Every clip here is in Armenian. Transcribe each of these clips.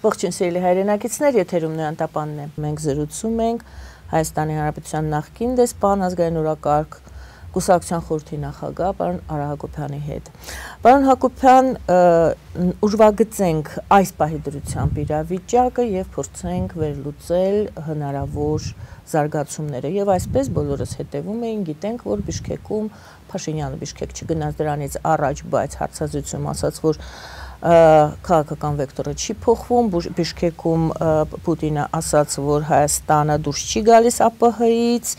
Ողջույն սիրելի հայրենակիցներ, եթերում Նոյան Տապանն է։ Մենք զրուցում ենք Հայաստանի Հանրապետության նախկին դեսպան, ազգային օրակարգ կուսակցության խորհրդի նախագահ պարոն Արա Հակոբյանի հետ։ Պարոն Հակոբյան, ուրվագծենք այս պահի դրությամբ իրավիճակը եւ փորձենք վերլուծել հնարավոր զարգացումները եւ այսպես բոլորս հետևում էին, գիտենք, որ Բիշկեկում Փաշինյանը Բիշկեք չգնաց դրանից առաջ, բայց հարցազրույցում ասաց, որ քաղաքական վեկտորը չի փոխվում, Բիշկեկում Պուտինը ասաց, որ Հայաստանը դուրս չի գալիս ԱՊՀ-ից,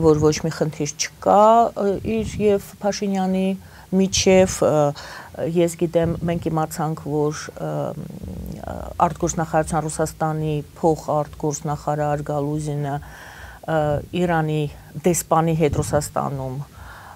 որ ոչ մի խնդիր չկա իր եւ Փաշինյանի միջև, ես գիտեմ, մենք իմացանք, որ արտգործնախարարության Ռուսաստանի փոխարտգործնախարար Գալուզինը Իրանի դեսպանի հետ Ռուսաստանում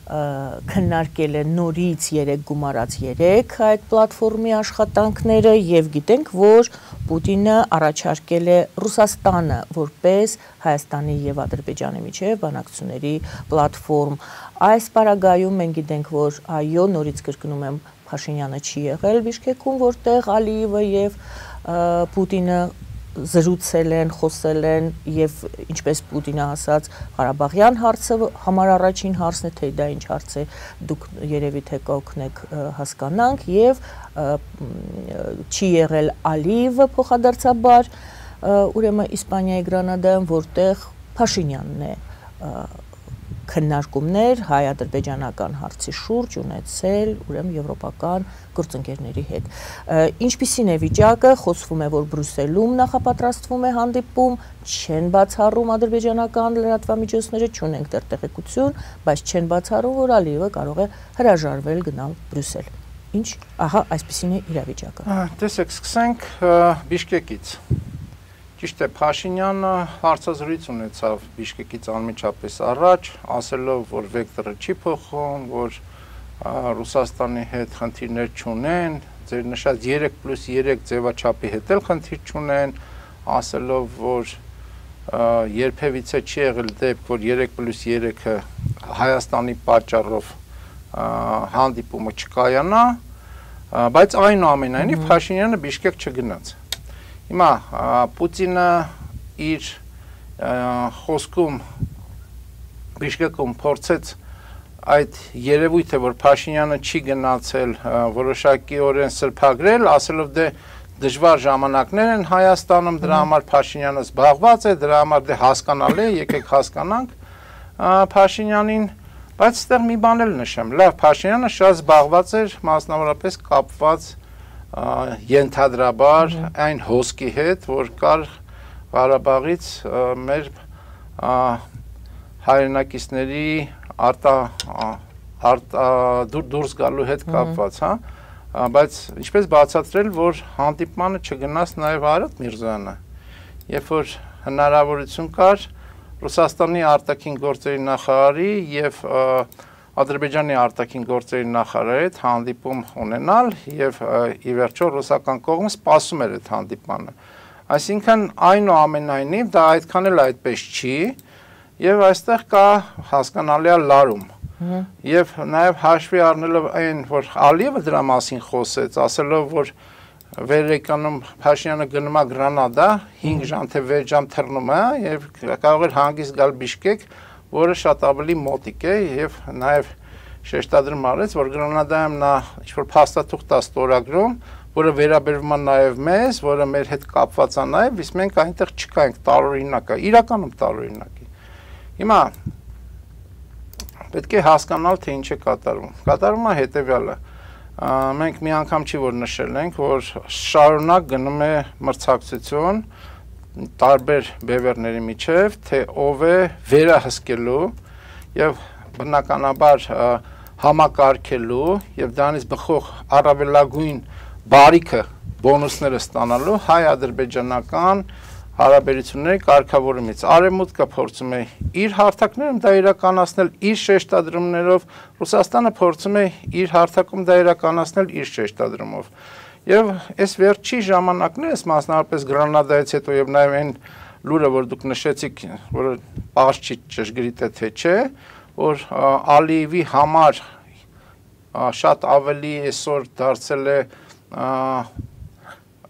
քննարկել է նորից 3 գումարած 3 այդ պլատֆորմի աշխատանքները եւ գիտենք, որ Պուտինը առաջարկել է Ռուսաստանը որպես Հայաստանի եւ Ադրբեջանի միջև բանակցությունների պլատֆորմ։ Այս պարագայում մենք գիտենք, որ այո, նորից կրկնում եմ, Փաշինյանը չի եղել Բիշկեկում, որտեղ Ալիևը եւ Պուտինը զրուցել են, խոսել են եւ ինչպես Պուտինը ասաց, Ղարաբաղյան հարցը համար առաջին հարցն է, թե դա ինչ հարց է, դուք երևի թե կօգնեք հասկանանք եւ չի եղել Ալիևը փոխադարձաբար, ուրեմն Իսպանիայի Գրանադայում, որտեղ Փաշինյանն է քննարկումներ հայ-ադրբեջանական հարցի շուրջ ունեցել, ուրեմն եվրոպական գործընկերների հետ։ Ինչպիսին է վիճակը, խոսվում է, որ Բրյուսելում նախապատրաստվում է հանդիպում, չեն բացառում ադրբեջանական լրատվամիջոցները, չունենք դեռ տեղեկություն, բայց չեն բացառում, որ Ալիևը կարող է հրաժարվել գնալ Բրյուսել։ Ինչ, ահա, այսպիսին է իրավիճակը։ Տեսեք, սկսենք Բիշկեկից։ Ճիշտ է, Փաշինյանը հարցազրույց ունեցավ Բիշկեկից անմիջապես առաջ, ասելով, որ վեկտորը չի փոխվում, որ Ռուսաստանի հետ խնդիրներ չունեն, ձեր նշած 3+3 ձևաչափի հետ էլ խնդիր չունեն, ասելով, որ երբևիցե չի եղել դեպք, որ 3+3-ը Հայաստանի պատճառով հանդիպումը չկայանա, բայց այնուամենայնիվ Փաշինյանը Բիշկեք չգնաց։ Հիմա Պուտինը իր խոսքում Բիշկեկում փորձեց այդ երևույթը, որ Փաշինյանը չի գնացել, որոշակիորեն սրբագրել, ասելով դե դժվար ժամանակներ են Հայաստանում, դրա համար Փաշինյանը զբաղված է, դրա համար դե հասկանալի է, եկեք հասկանանք Փաշինյանին, բայց այստեղ մի բան էլ նշեմ, լավ, Փաշինյանը շատ զբաղված էր, մասնավորապես կապված ենթադրաբար այն հոսքի հետ, որ կար Ղարաբաղից մեր հայրենակիցների դուրս գալու հետ կապված, բայց ինչպես բացատրել, որ հանդիպմանը չգնաց նաև Արադ Միրզոյանը, երբ որ հնարավորություն կար Ռուսաստանի արտաքին գործերի նախարարի եւ Ադրբեջանի արտաքին գործերի նախարարի հետ հանդիպում ունենալ եւ ի վերջո ռուսական կողմը սպասում էր այդ հանդիպմանը։ Այսինքն այնուամենայնիվ դա այդքան էլ այդպես չի եւ այստեղ կա հասկանալի լարում։ Եվ նաեւ հաշվի առնելով այն, որ Ալիևը դրա մասին խոսեց, ասելով, որ վերեկանում Փաշինյանը գնում է Գրանադա 5 ժամ թե 6 ժամ թռնում է եւ կարող էր հանգիստ գալ Բիշկեք, որը շատ ավելի մոտիկ է եւ նաեւ շեշտադրում արեց, որ Գրանադայում նա ինչ-որ փաստաթուղթ է ստորագրում, որը վերաբերվում է նաեւ մեզ, որը մեր հետ կապված է նաեւ, իսկ մենք այնտեղ չկայինք, տարօրինակ է, իրականում տարօրինակ է։ Հիմա պետք է հասկանալ, թե ինչ է կատարվում։ Կատարվում է հետեւյալը։ Մենք մի անգամ չի որ նշել ենք, որ շարունակ գնում է մրցակցություն տարբեր բևեռների միջև, թե ով է վերահսկելու եւ բնականաբար համակարգելու եւ դրանից բխող առավելագույն բարիքը բոնուսները ստանալու հայ-ադրբեջանական հարաբերությունների կարգավորումից։ Արևմուտքը փորձում է իր հարթակներում դա իրականացնել իր շեշտադրումներով, Ռուսաստանը փորձում է իր հարթակում դա իրականացնել իր շեշտադրումով։ Եվ այս վերջի ժամանակներս, մասնավորապես Գրանադայից հետո եւ նաեւ այն լուրը, որ դուք նշեցիք, որը պարզ չի ճշգրիտ է թե չէ, որ Ալիևի համար շատ ավելի այսօր դարձել է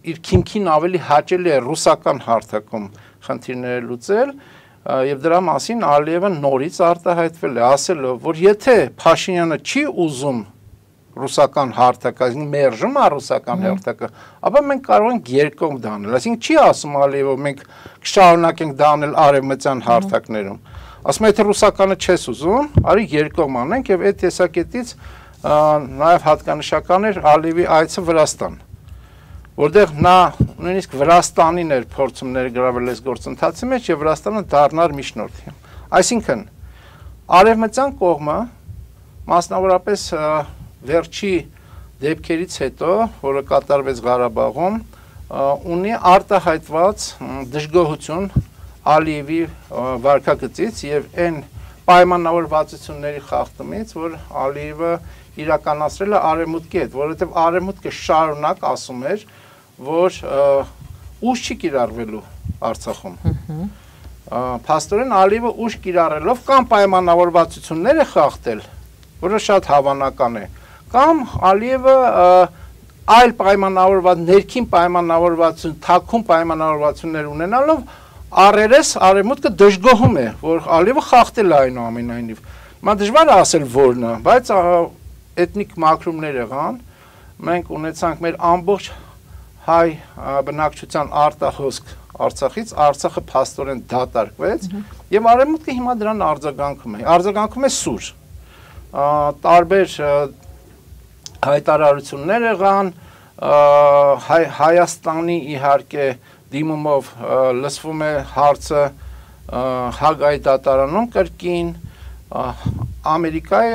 իր քիմքին ավելի հաճելի է ռուսական հարթակում խնդիրները լուծել եւ դրա մասին Ալիևը նորից արտահայտվել է ասելով, որ եթե Փաշինյանը չի ուզում ռուսական հարթակը, այսինքն մերժում է ռուսական հարթակը, ապա մենք կարող ենք երկկողմ դանել, այսինքն չի ասում Ալիևը մենք կշարունակենք դանել արևմտյան հարթակներում, ասում է եթե ռուսականը չես ուզում, արի երկկողմ անենք եւ այդ տեսակետից նաեւ հատկանշական էր Ալիևի այցը Վրաստան, որտեղ նա նույնիսկ Վրաստանին էր փորձում ներգրավել այս գործընթացի մեջ եւ Վրաստանը դառնար միջնորդ։ Այսինքն արևմտյան կողմը մասնավորապես վերջի դեպքերից հետո, որը կատարվեց Ղարաբաղում, ունի արտահայտված դժգոհություն Ալիևի վարքագծից եւ այն պայմանավորվածությունների խախտումից, որ Ալիևը իրականացրել է արևմուտքի հետ, որովհետեւ արևմուտքը շարունակ ասում էր, որ ուժ չի կիրառվելու Արցախում։ Փաստորեն Ալիևը ուժ կիրառելով կամ պայմանավորվածություններ է խախտել, որը շատ հավանական է, կամ Ալիևը այլ պայմանավորված, ներքին պայմանավորվածություն, թաքուն պայմանավորվածություններ ունենալով առերես արևմուտքը դժգոհում է, որ Ալիևը խախտել է այնուամենայնիվ։ Հիմա դժվար է ասել որն է, բայց էթնիկ մաքրումներ եղան, մենք ունեցանք մեր ամբողջ հայ բնակչության արտահոսք Արցախից, Արցախը փաստորեն դատարկվեց եւ արևմուտքը հիմա դրան արձագանքում է սուր։ Տարբեր հայտարարություններ եղան, Հայաստանի իհարկե դիմումով լսվում է հարցը Հագայի դատարանում կրկին, Ամերիկայի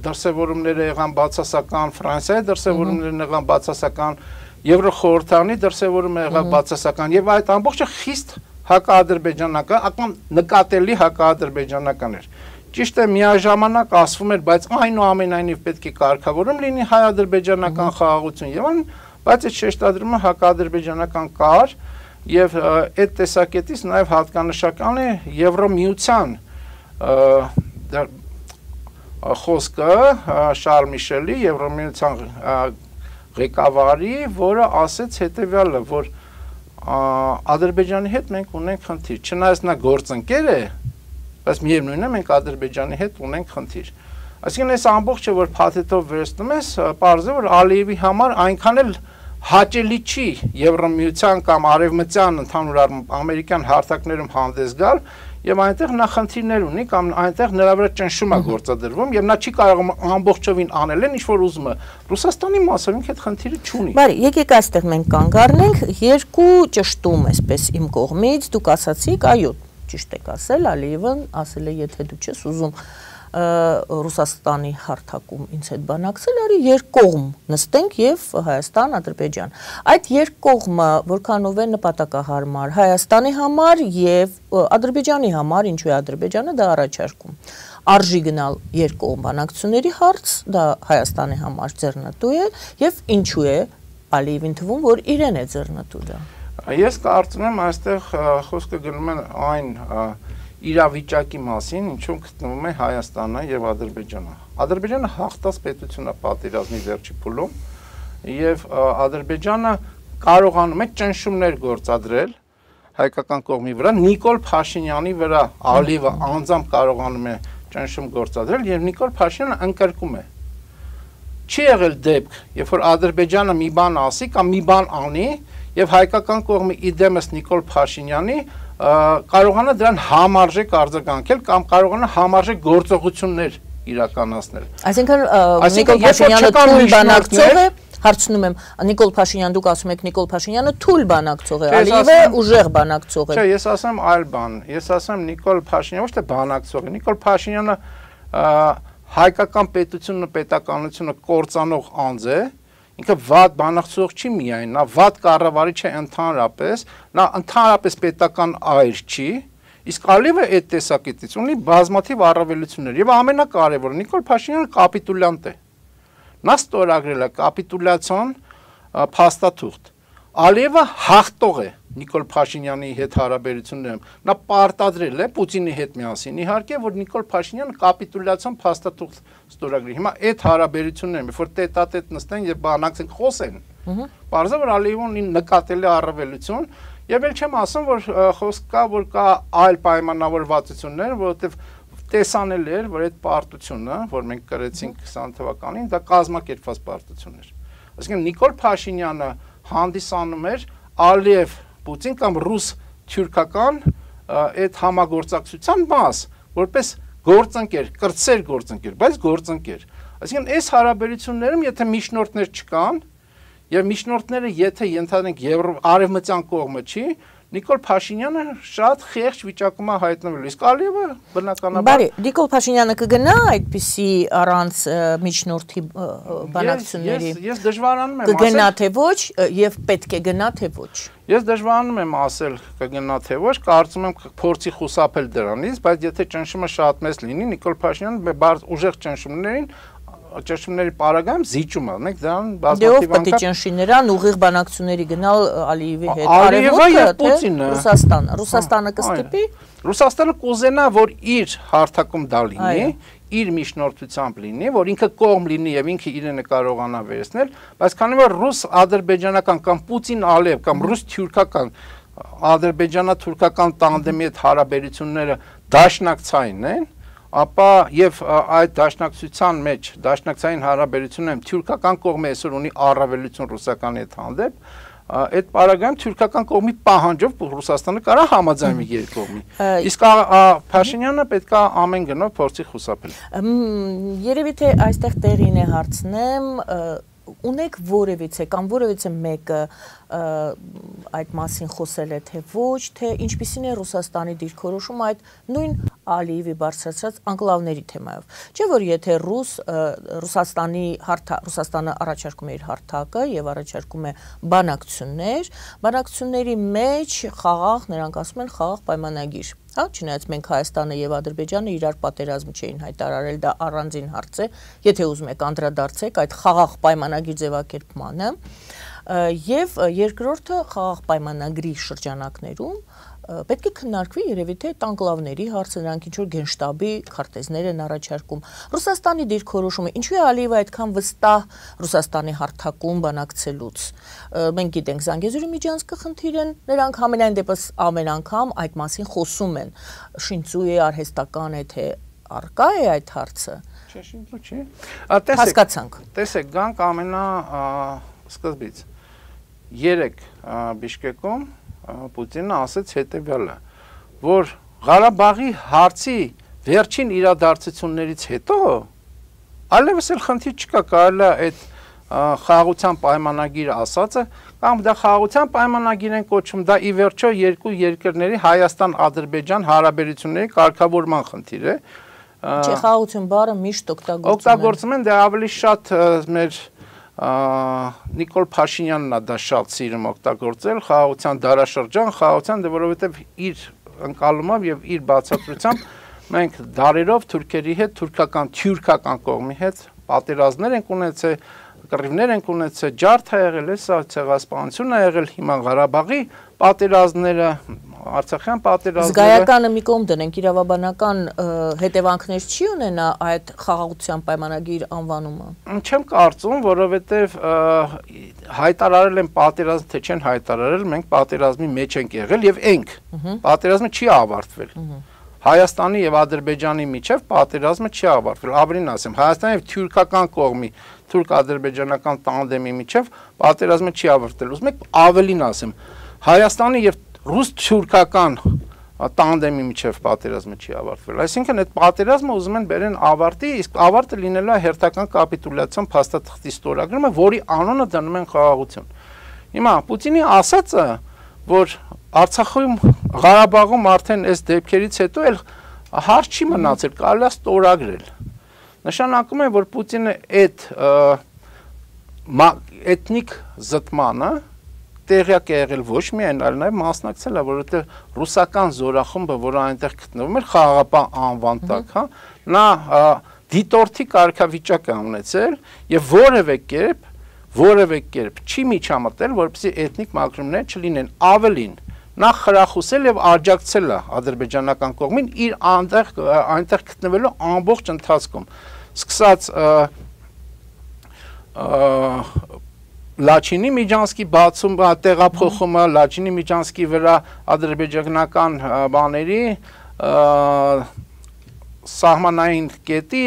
դրսևորումները եղան բացասական, Ֆրանսիայի դրսևորումներն եղան բացասական, Եվրոխորհրդանի դրսևորումը եղավ բացասական եւ այդ ամբողջը խիստ հակաադրբեջանական, ակամ նկատելի հակաադրբեջանական էր։ Ճիշտ է, միաժամանակ ասվում էր, բայց այնուամենայնիվ պետք է կարգավորում լինի հայ-ադրբեջանական խաղաղություն եւ այն, բայց այդ շեշտադրումը հակաադրբեջանական կար եւ այդ տեսակետից նաեւ հատկանշական է Եվրոմիության խոսքը Շարլ Միշելի, Եվրոմիության ղեկավարի, որը ասեց հետեւյալը, որ Ադրբեջանի հետ մենք ունենք խնդիր, չնայած նա գործընկեր է, բայց միևնույնն է մենք Ադրբեջանի հետ ունենք խնդիր։ Այսինքն այս ամբողջը որ փաթեթով վերցնում ես, պարզ է որ Ալիևի համար այնքան էլ հաճելի չի Եվրոմիության կամ արևմտյան ընդհանուր առմամբ ամերիկյան հարթակներում հանդես գալ եւ այնտեղ նա խնդիրներ ունի կամ այնտեղ նրա վրա ճնշում է գործադրվում եւ նա չի կարող ամբողջովին անել ինչ որ ուզում է Ռուսաստանի մասով ինքը այդ խնդիրը չունի։ Բարի, եկեք այստեղ մենք կանգ առնենք, երկու ճշտում այսպես իմ կողմից, դուք ասացիք, այո, ճիշտ եք ասել, Ալիևն ասել է, եթե դու չես ուզում Ռուսաստանի հարթակում ինձ հետ բանակցել, արի երկկողմ նստենք եւ Հայաստան, Ադրբեջան։ Այդ երկկողմը որքանով է նպատակահարմար Հայաստանի համար եւ Ադրբեջանի համար, ինչու է Ադրբեջանը դա առաջարկում։ Արժի գնալ երկկողմ բանակցությունների հարց, դա Հայաստանի համար ձեռնտու է եւ ինչու է Ալիևին թվում, որ իրեն է ձեռնտու դա։ Ես կարծում եմ այստեղ խոսքը գնում է այն իրավիճակի մասին, ինչում գտնվում է Հայաստանը եւ Ադրբեջանը։ Ադրբեջանը հաղթած պետություն է պատերազմի վերջի փուլում եւ Ադրբեջանը կարողանում է ճնշումներ գործադրել հայկական կողմի վրա, Նիկոլ Փաշինյանի վրա Ալիևը անձամբ կարողանում է ճնշում գործադրել եւ Նիկոլ Փաշինյանը ընկրկում է։ Չի եղել դեպք, երբ որ Ադրբեջանը մի բան ասի կամ մի բան անի եւ հայկական կողմը իդեմս Նիկոլ Փաշինյանի կարողանա դրան համարժեք արձագանքել կամ կարողանա համարժեք գործողություններ իրականացնել։ Այսինքն Նիկոլ Փաշինյանը թույլ բանակցող է, հարցնում եմ, Նիկոլ Փաշինյան դուք ասում եք Նիկոլ Փաշինյանը թույլ բանակցող է, Ալիևը ուժեղ բանակցող է։ Չէ, ես ասեմ այլ բան։ Ես ասեմ Նիկոլ Փաշինյանը ոչ թե բանակցող է, Նիկոլ Փաշինյանը հայկական պետությունը, պետականությունը կործանող անձ է։ Ինքը վատ բանակցող չի միայն, նա վատ կառավարիչ է ընդհանրապես, նա ընդհանրապես պետական այր չի, իսկ Ալիևը այդ տեսակետից ունի բազմաթիվ առավելություններ եւ ամենակարևորը Նիկոլ Փաշինյանը կապիտուլյանտ է։ Նա ստորագրել է կապիտուլյացիոն փաստաթուղթ։ Ալիևը հաղթող է Նիկոլ Փաշինյանի հետ հարաբերություններում։ Նա պարտադրել է Պուտինի հետ միասին իհարկե, որ Նիկոլ Փաշինյանը կապիտուլյացիոն փաստաթուղթ ստորագրի։ Հիմա այդ հարաբերություններում, որ տետատետ նստեն եւ բանակցեն, խոսեն, Պարզը որ Ալիևն ունի նկատելի առավելություն, եւ էլ չեմ ասում, որ խոսք կա, որ կա այլ պայմանավորվածություններ, որովհետեւ տեսանել էր, որ այդ պարտությունը, որ մենք կրեցինք 20 թվականին, դա կազմակերպված պարտություն էր։ Այսինքն Նիկոլ Փաշինյանը հանդիսանում էր Ալիև Պուտին կամ ռուս-թյուրքական այդ համագործակցության մաս, որպես գործընկեր, կրտսեր գործընկեր, բայց գործընկեր։ Այսինքն այս հարաբերություններում եթե միջնորդներ չկան, եւ միջնորդները եթե ենթադրենք արևմտյան կողմը չի, Նիկոլ Փաշինյանը շատ խեղճ վիճակում է հայտնվել, իսկ Ալիևը բնականաբար Բարի, Նիկոլ Փաշինյանը կգնա այդպիսի առանց միջնորդի բանակցությունների։ Ես դժվարանում եմ կգնա թե ոչ եւ պետք է գնա թե ոչ։ Ես դժվարանում եմ ասել կգնա թե ոչ, կարծում եմ փորձի խուսափել դրանից, բայց եթե ճնշումը շատ մեծ լինի, Նիկոլ Փաշինյանը ուժեղ ճնշումների պարագայում զիջում է, մենք դրան բազմաթիվ անգամ պետք է ճնշի նրան ուղիղ բանակցությունների գնալ Ալիևի հետ։ Ալիևը եւ Պուտինը, Ռուսաստանը կստիպի։ Ռուսաստանը կուզենա, որ իր հարթակում դա լինի, իր միջնորդությամբ լինի, որ ինքը կողմ լինի եւ ինքը իրենը կարողանա վերցնել, բայց քանի որ ռուս-ադրբեջանական կամ Պուտին-Ալիև կամ ռուս-թյուրքական ադրբեջանա-թուրքական տանդեմի հետ հարաբերությունները դաշնակցային են, ապա եւ այդ դաշնակցության մեջ դաշնակցային հարաբերություններում թյուրքական կողմը այսօր ունի առավելություն ռուսականի հետ հանդեպ, այդ պարագայում թյուրքական կողմի պահանջով Ռուսաստանը կարա համաձայնվի երկու կողմի։ Իսկ Փաշինյանը պետք է ամեն գնով փորձի խուսափել։ Երևի թե այստեղ տեղին է հարցնեմ, ունեք որևիցե կամ որևիցե մեկը այդ մասին խոսել է թե ոչ, թե ինչպիսին է Ռուսաստանի դիրքորոշումը այդ նույն Ալիևի բարձրացած անկլավների թեմայով։ Չէ՞ որ եթե Ռուսաստանը առաջարկում է իր հարթակը եւ առաջարկում է բանակցությունների մեջ խաղաղ, նրանք ասում են խաղաղ պայմանագիր։ Հա, չնայած մենք Հայաստանը եւ Ադրբեջանը իրար պատերազմ չէին հայտարարել, դա առանձին հարց է, եթե ուզում եք անդրադարձեք այդ խաղաղ պայմանագրի ձևակերպմանը, եւ երկրորդը խաղաղ պայմանագրի շրջանակներում պետք է քննարկվի երևի թե տանկլավների հարցը, նրանք ինչ որ գենշտաբի քարտեզներ են առաջարկում։ Ռուսաստանի դիրքորոշումը, ինչու է Ալիևը այդքան վստահ Ռուսաստանի հարթակում բանակցելուց։ Մենք գիտենք Զանգեզուրի միջանցքը խնդիր են, նրանք համենայն դեպս ամեն անգամ այդ մասին խոսում են։ Շինծու է, արհեստական է, թե առկա է այդ հարցը։ Չէ, շինծու չի։ Հասկացանք։ Տեսեք, գանք ամենա սկզբից։ Երեք Բիշկեկում Պուտինը ասաց հետևյալը, որ Ղարաբաղի հարցի վերջին իրադարձություններից հետո այլևս էլ խնդիր չկա, կարելի է այդ խաղաղության պայմանագիրը ասածը կամ դա խաղաղության պայմանագիր են կոչում, դա ի վերջո երկու երկրների Հայաստան-Ադրբեջան հարաբերությունների կարգավորման խնդիր է։ Չէ, խաղաղություն բառը միշտ օգտագործում են, դա ավելի շատ մեր Նիկոլ Փաշինյանն է դա շատ սիրում օգտագործել, խաղաղության դարաշրջան, խաղաղության, որովհետև իր ընկալումով եւ իր բացատրությամբ մենք դարերով թուրքերի հետ, թյուրքական կողմի հետ պատերազմներ ենք ունեցել, կռիվներ ենք ունեցել, ջարդ է եղել, ցեղասպանություն է եղել, հիմա Ղարաբաղի պատերազմները, Արցախյան պատերազմները։ Զգայականը մի կողմ դնենք, իրավաբանական հետևանքներ չի ունենա այդ խաղաղության պայմանագիր անվանումը։ Չեմ կարծում, որովհետև հայտարարել են պատերազմ, թե չեն հայտարարել, մենք պատերազմի մեջ ենք եղել եւ ենք։ Պատերազմը չի ավարտվել։ Հայաստանի եւ Ադրբեջանի միջև պատերազմը չի ավարտվել։ Ավելին ասեմ, Հայաստանի եւ թյուրքական կողմի, թուրք-ադրբեջանական տանդեմի միջև պատերազմը չի ավարտվել։ Ուզում եք ավելին ասեմ, Հայաստանի եւ ռուս-թյուրքական տանդեմի միջև պատերազմը չի ավարտվել։ Այսինքն այդ պատերազմը ուզում են բերեն ավարտի, իսկ ավարտը լինելու է հերթական կապիտուլյացիոն փաստաթղթի ստորագրումը, որի անունը դնում են խաղաղություն։ Հիմա Պուտինի ասածը, որ Արցախում, Ղարաբաղում արդեն այս դեպքերից հետո էլ հարց չի մնացել, կարելի է ստորագրել։ Նշանակում է, որ Պուտինը այդ էթնիկ զտմանը տեղյակ է եղել ոչ միայն, այլ նաև մասնակցել է, որովհետև ռուսական զորախումբը, որը այնտեղ գտնվում էր խաղաղապահ անվան տակ, հա, նա դիտորդի կարգավիճակ է ունեցել եւ որևէ կերպ չի միջամտել, որպեսզի էթնիկ մակրումներ չլինեն, ավելին նա խրախուսել եւ աջակցել է ադրբեջանական կողմին իր այնտեղ գտնվելու ամբողջ ընթացքում, սկսած Լաչինի Միջանցքի բացում, տեղափոխումը, Լաչինի Միջանցքի վրա ադրբեջանական բաների սահմանային կետի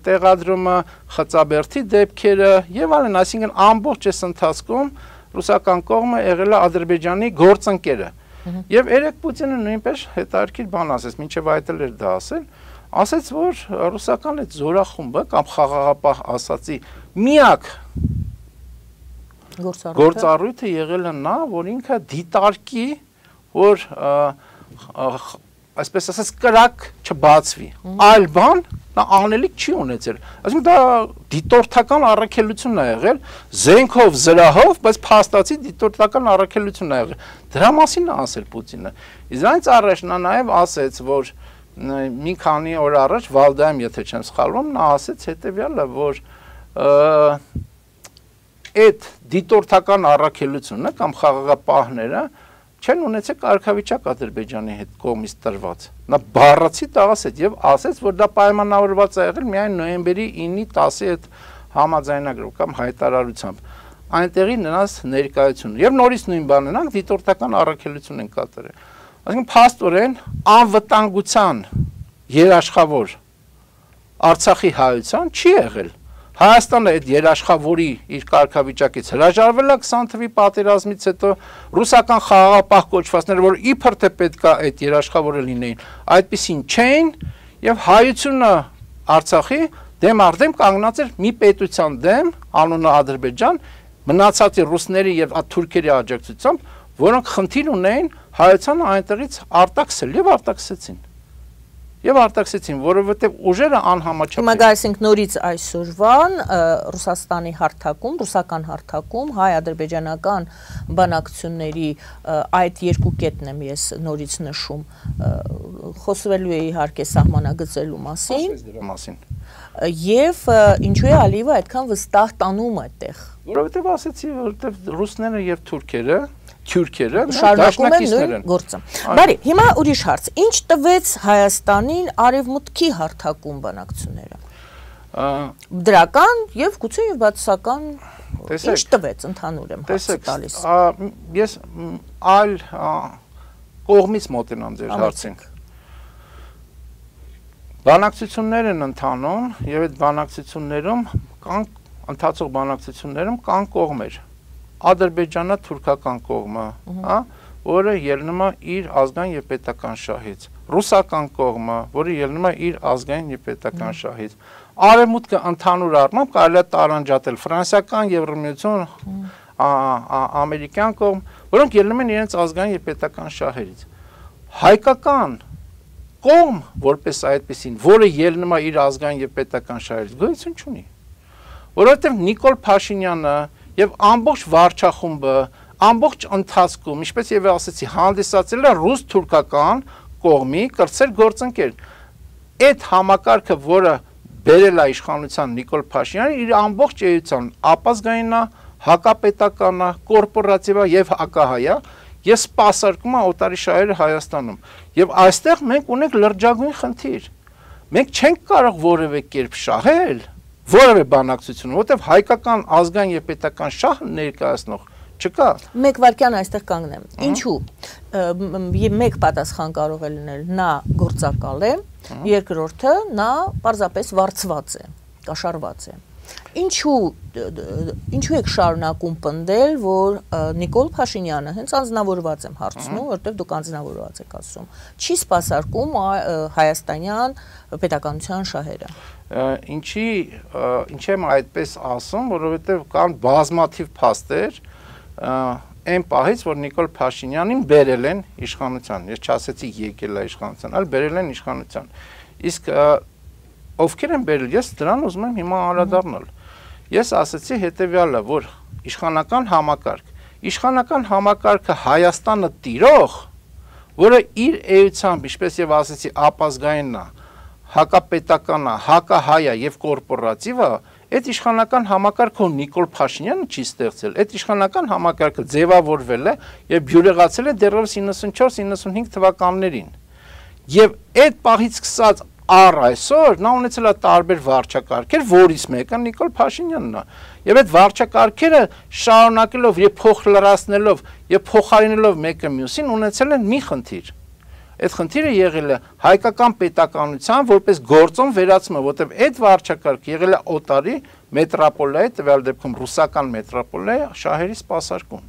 տեղադրումը, Խծաբերդի դեպքերը եւ այլն, այսինքն ամբողջ այս ընթացքում ռուսական կողմը եղել է Ադրբեջանի գործընկերը։ Եվ երեք Պուտինը նույնպես հետարքիր բան ասեց, մինչև այդ էր դա ասեց, որ ռուսական այդ զորախումբը կամ խաղաղապահ ասացի միակ գործառույթը եղել է նա, որ ինքը դիտարկի, որ այսպես ասած կրակ չբացվի, այլ բան նա անելիք չի ունեցել, այսինքն դա դիտորդական առաքելություն է եղել, զենքով, զրահով, բայց փաստացի դիտորդական առաքելություն է եղել, դրա մասին է ասել Պուտինը, իսկ առաջ նա նաև ասեց, որ մի քանի օր առաջ Վալդայում, եթե չեմ սխալվում, նա ասեց հետևյալը, որ այդ դիտորդական առաքելությունը կամ խաղաղապահները չեն ունեցել կարգավիճակ Ադրբեջանի հետ կողմից տրված։ Նա բառացի դա ասեց եւ ասեց, որ դա պայմանավորված է եղել միայն նոյեմբերի 9-ի 10-ի այդ համաձայնագրով կամ հայտարարությամբ։ Այնտեղի նրանց ներկայությունը եւ նորից նույն բանն ենք դիտորդական առաքելություն են կատարել։ Այսինքն փաստորեն անվտանգության երաշխավոր Արցախի հայության չի եղել։ Հայաստանը այդ երաշխավորի իր կարգավիճակից հրաժարվել է 20 թվականի պատերազմից հետո ռուսական խաղաղապահ կոչվածները, որ իբր թե պետք է այդ երաշխավորը լինեին, այդպեսին չէին եւ հայությունը Արցախի դեմ արդեմ կանգնած էր մի պետության դեմ, անունը Ադրբեջան, մնացածի ռուսների եւ թուրքերի աջակցությամբ, որոնք խնդիր ունեին հայությանը այնտեղից արտաքսել եւ արտաքսեցին։ Եվ արտաքսեցին, որովհետև ուժերը անհամաչափ են։ Հիմա գալսենք նորից այսօրվան Ռուսաստանի հարթակում, ռուսական հարթակում հայ-ադրբեջանական բանակցությունների այդ երկու կետն եմ ես նորից նշում, խոսվելու է իհարկե սահմանագծելու մասին։ Եվ ինչու է Ալիևը այդքան վստահ տանում այդտեղ։ Որովհետև ասեցի, որովհետև ռուսները եւ թուրքերը շարունակում են նույն գործը։ Բարի, հիմա ուրիշ հարց, ինչ տվեց Հայաստանին արևմուտքի հարթակում բանակցությունները։ Դրական եւ գուցե եւ բացասական ինչ տվեց ընդհանուր եմ հարցը տալիս։ Ես այլ կողմից մոտենամ ձեր հարցին։ Բանակցություններ են ընթանում եւ այդ բանակցություններում կան ընթացող բանակցություններում կան կողմեր։ Ադրբեջանը թուրքական կողմը, հա, որը ելնում է իր ազգային եւ պետական շահից։ Ռուսական կողմը, որը ելնում է իր ազգային եւ պետական շահից։ Արևմուտքը ընդհանուր առմամբ կարելի է տարանջատել ֆրանսիական, Եվրամիություն, ամերիկյան կողմ, որոնք ելնում են իրենց ազգային եւ պետական շահերից։ Հայկական կողմ, որպես այդպեսին, որը ելնում է իր ազգային եւ պետական շահերից, գոյություն չունի։ Որովհետեւ Նիկոլ Փաշինյանը եւ ամբողջ վարչախումբը ամբողջ ընթացքում, ինչպես եւ ասացի, հանդիսացել է ռուս-թուրքական կողմի կրտսեր գործընկեր։ Այդ համակարգը, որը բերել է իշխանության Նիկոլ Փաշինյանը, իր ամբողջ էության ապազգային է, հակապետական է, կորպորատիվ է եւ հակահայ է, եւ սպասարկում է օտարի շահերը Հայաստանում։ Եվ այստեղ մենք ունենք լրջագույն խնդիր։ Մենք չենք կարող որևէ կերպ շահել որևէ բանակցություն, որովհետև հայկական ազգային եւ պետական շահ ներկայացնող չկա։ Մեկ վարքյան այստեղ կանգնեմ։ Ինչու՞։ Մեկ պատասխան կարող է լինել, նա գործակալ է, երկրորդը նա պարզապես վարձված է, կաշառված է։ Ինչու եք շարունակում պնդել, որ Նիկոլ Փաշինյանը հենց անձնավորված եմ հարցնում, որտեղ դուք անձնավորված եք ասում, չի սպասարկում հայաստանյան պետականության շահերը։ Ինչ եմ այդպես ասում, որովհետև կան բազմաթիվ փաստեր այն պահից, որ Նիկոլ Փաշինյանին բերել են իշխանության, ես չասեցի եկել է իշխանության, այլ բերել են իշխանության։ Իսկ ովքեր են բերել, ես դրան ուզում եմ հիմա անդրադառնալ։ Ես ասացի հետևյալը, որ իշխանական համակարգը Հայաստանը տիրող, որը իր էությամբ, ինչպես եւ ասեցի, ապազգայինն է, հակապետական է, հակահայ է եւ կորպորատիվ է, այդ իշխանական համակարգը Նիկոլ Փաշինյանը չի ստեղծել։ Այդ իշխանական համակարգը ձևավորվել է եւ բյուրեղացել է դեռևս 94-95 թվականներին։ Եվ այդ պահից սկսած առ այսօր նա ունեցել է տարբեր վարչակարգեր, որից մեկը Նիկոլ Փաշինյանն է։ Եվ այդ վարչակարգերը շարունակելով եւ փոխլրացնելով եւ փոխարինելով մեկը մյուսին ունեցել են մի խնդիր։ Այդ խնդիրը եղել է հայկական պետականության որպես գործոն վերացումը, որտեղ այդ վարչակարգը եղել է օտարի մետրոպոլիայի, տվյալ դեպքում ռուսական մետրոպոլիայի շահերի սպասարկում։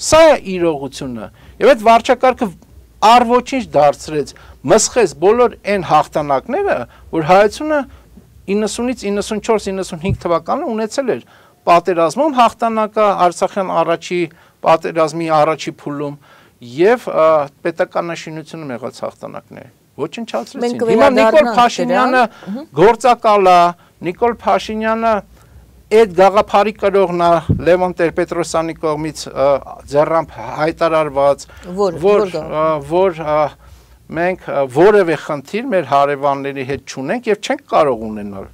Սա է իրողությունը։ Եվ այդ վարչակարգը առ ոչինչ դարձրեց, մսխեց բոլոր այն հաղթանակները, որ հայությունը 90-ից 94-95 թվականը ունեցել էր պատերազմում հաղթանակը, Արցախյան առաջի պատերազմի առաջի փուլում եւ պետականաշինությունը եղած հաղթանակները ոչնչացրեցին։ Հիմա Նիկոլ Փաշինյանը գործակալ է, Նիկոլ Փաշինյանը այդ գաղափարի կրողն է Լևոն Տեր-Պետրոսյանի կողմից ձեռամբ հայտարարված, որ մենք որևէ խնդիր մեր հարևանների հետ չունենք եւ չենք կարող ունենալ,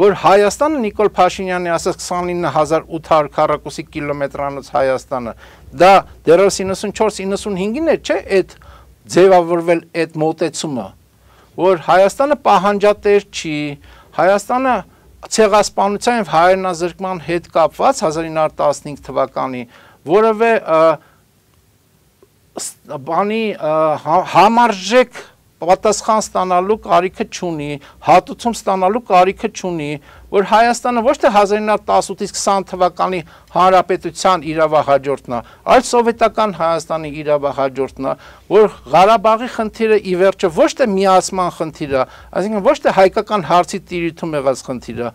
որ Հայաստանը Նիկոլ Փաշինյանի ասած 29800 քառակուսի կիլոմետրանոց Հայաստանը, դա դեռևս 94-95-ին է, չէ, այդ ձևավորվել այդ մոտեցումը, որ Հայաստանը պահանջատեր չի, Հայաստանը ցեղասպանության եւ հայրենազրկման հետ կապված 1915 թվականի որևէ բանի համարժեք պատասխան ստանալու կարիքը չունի, հատուցում ստանալու կարիքը չունի, որ Հայաստանը ոչ թե 1918-ից 20 թվականի հանրապետության իրավահաջորդն է, այլ սովետական Հայաստանի իրավահաջորդն է, որ Ղարաբաղի խնդիրը ի վերջո ոչ թե միացման խնդիր է, այսինքն ոչ թե հայկական հարցի տիրույթում եղած խնդիր է,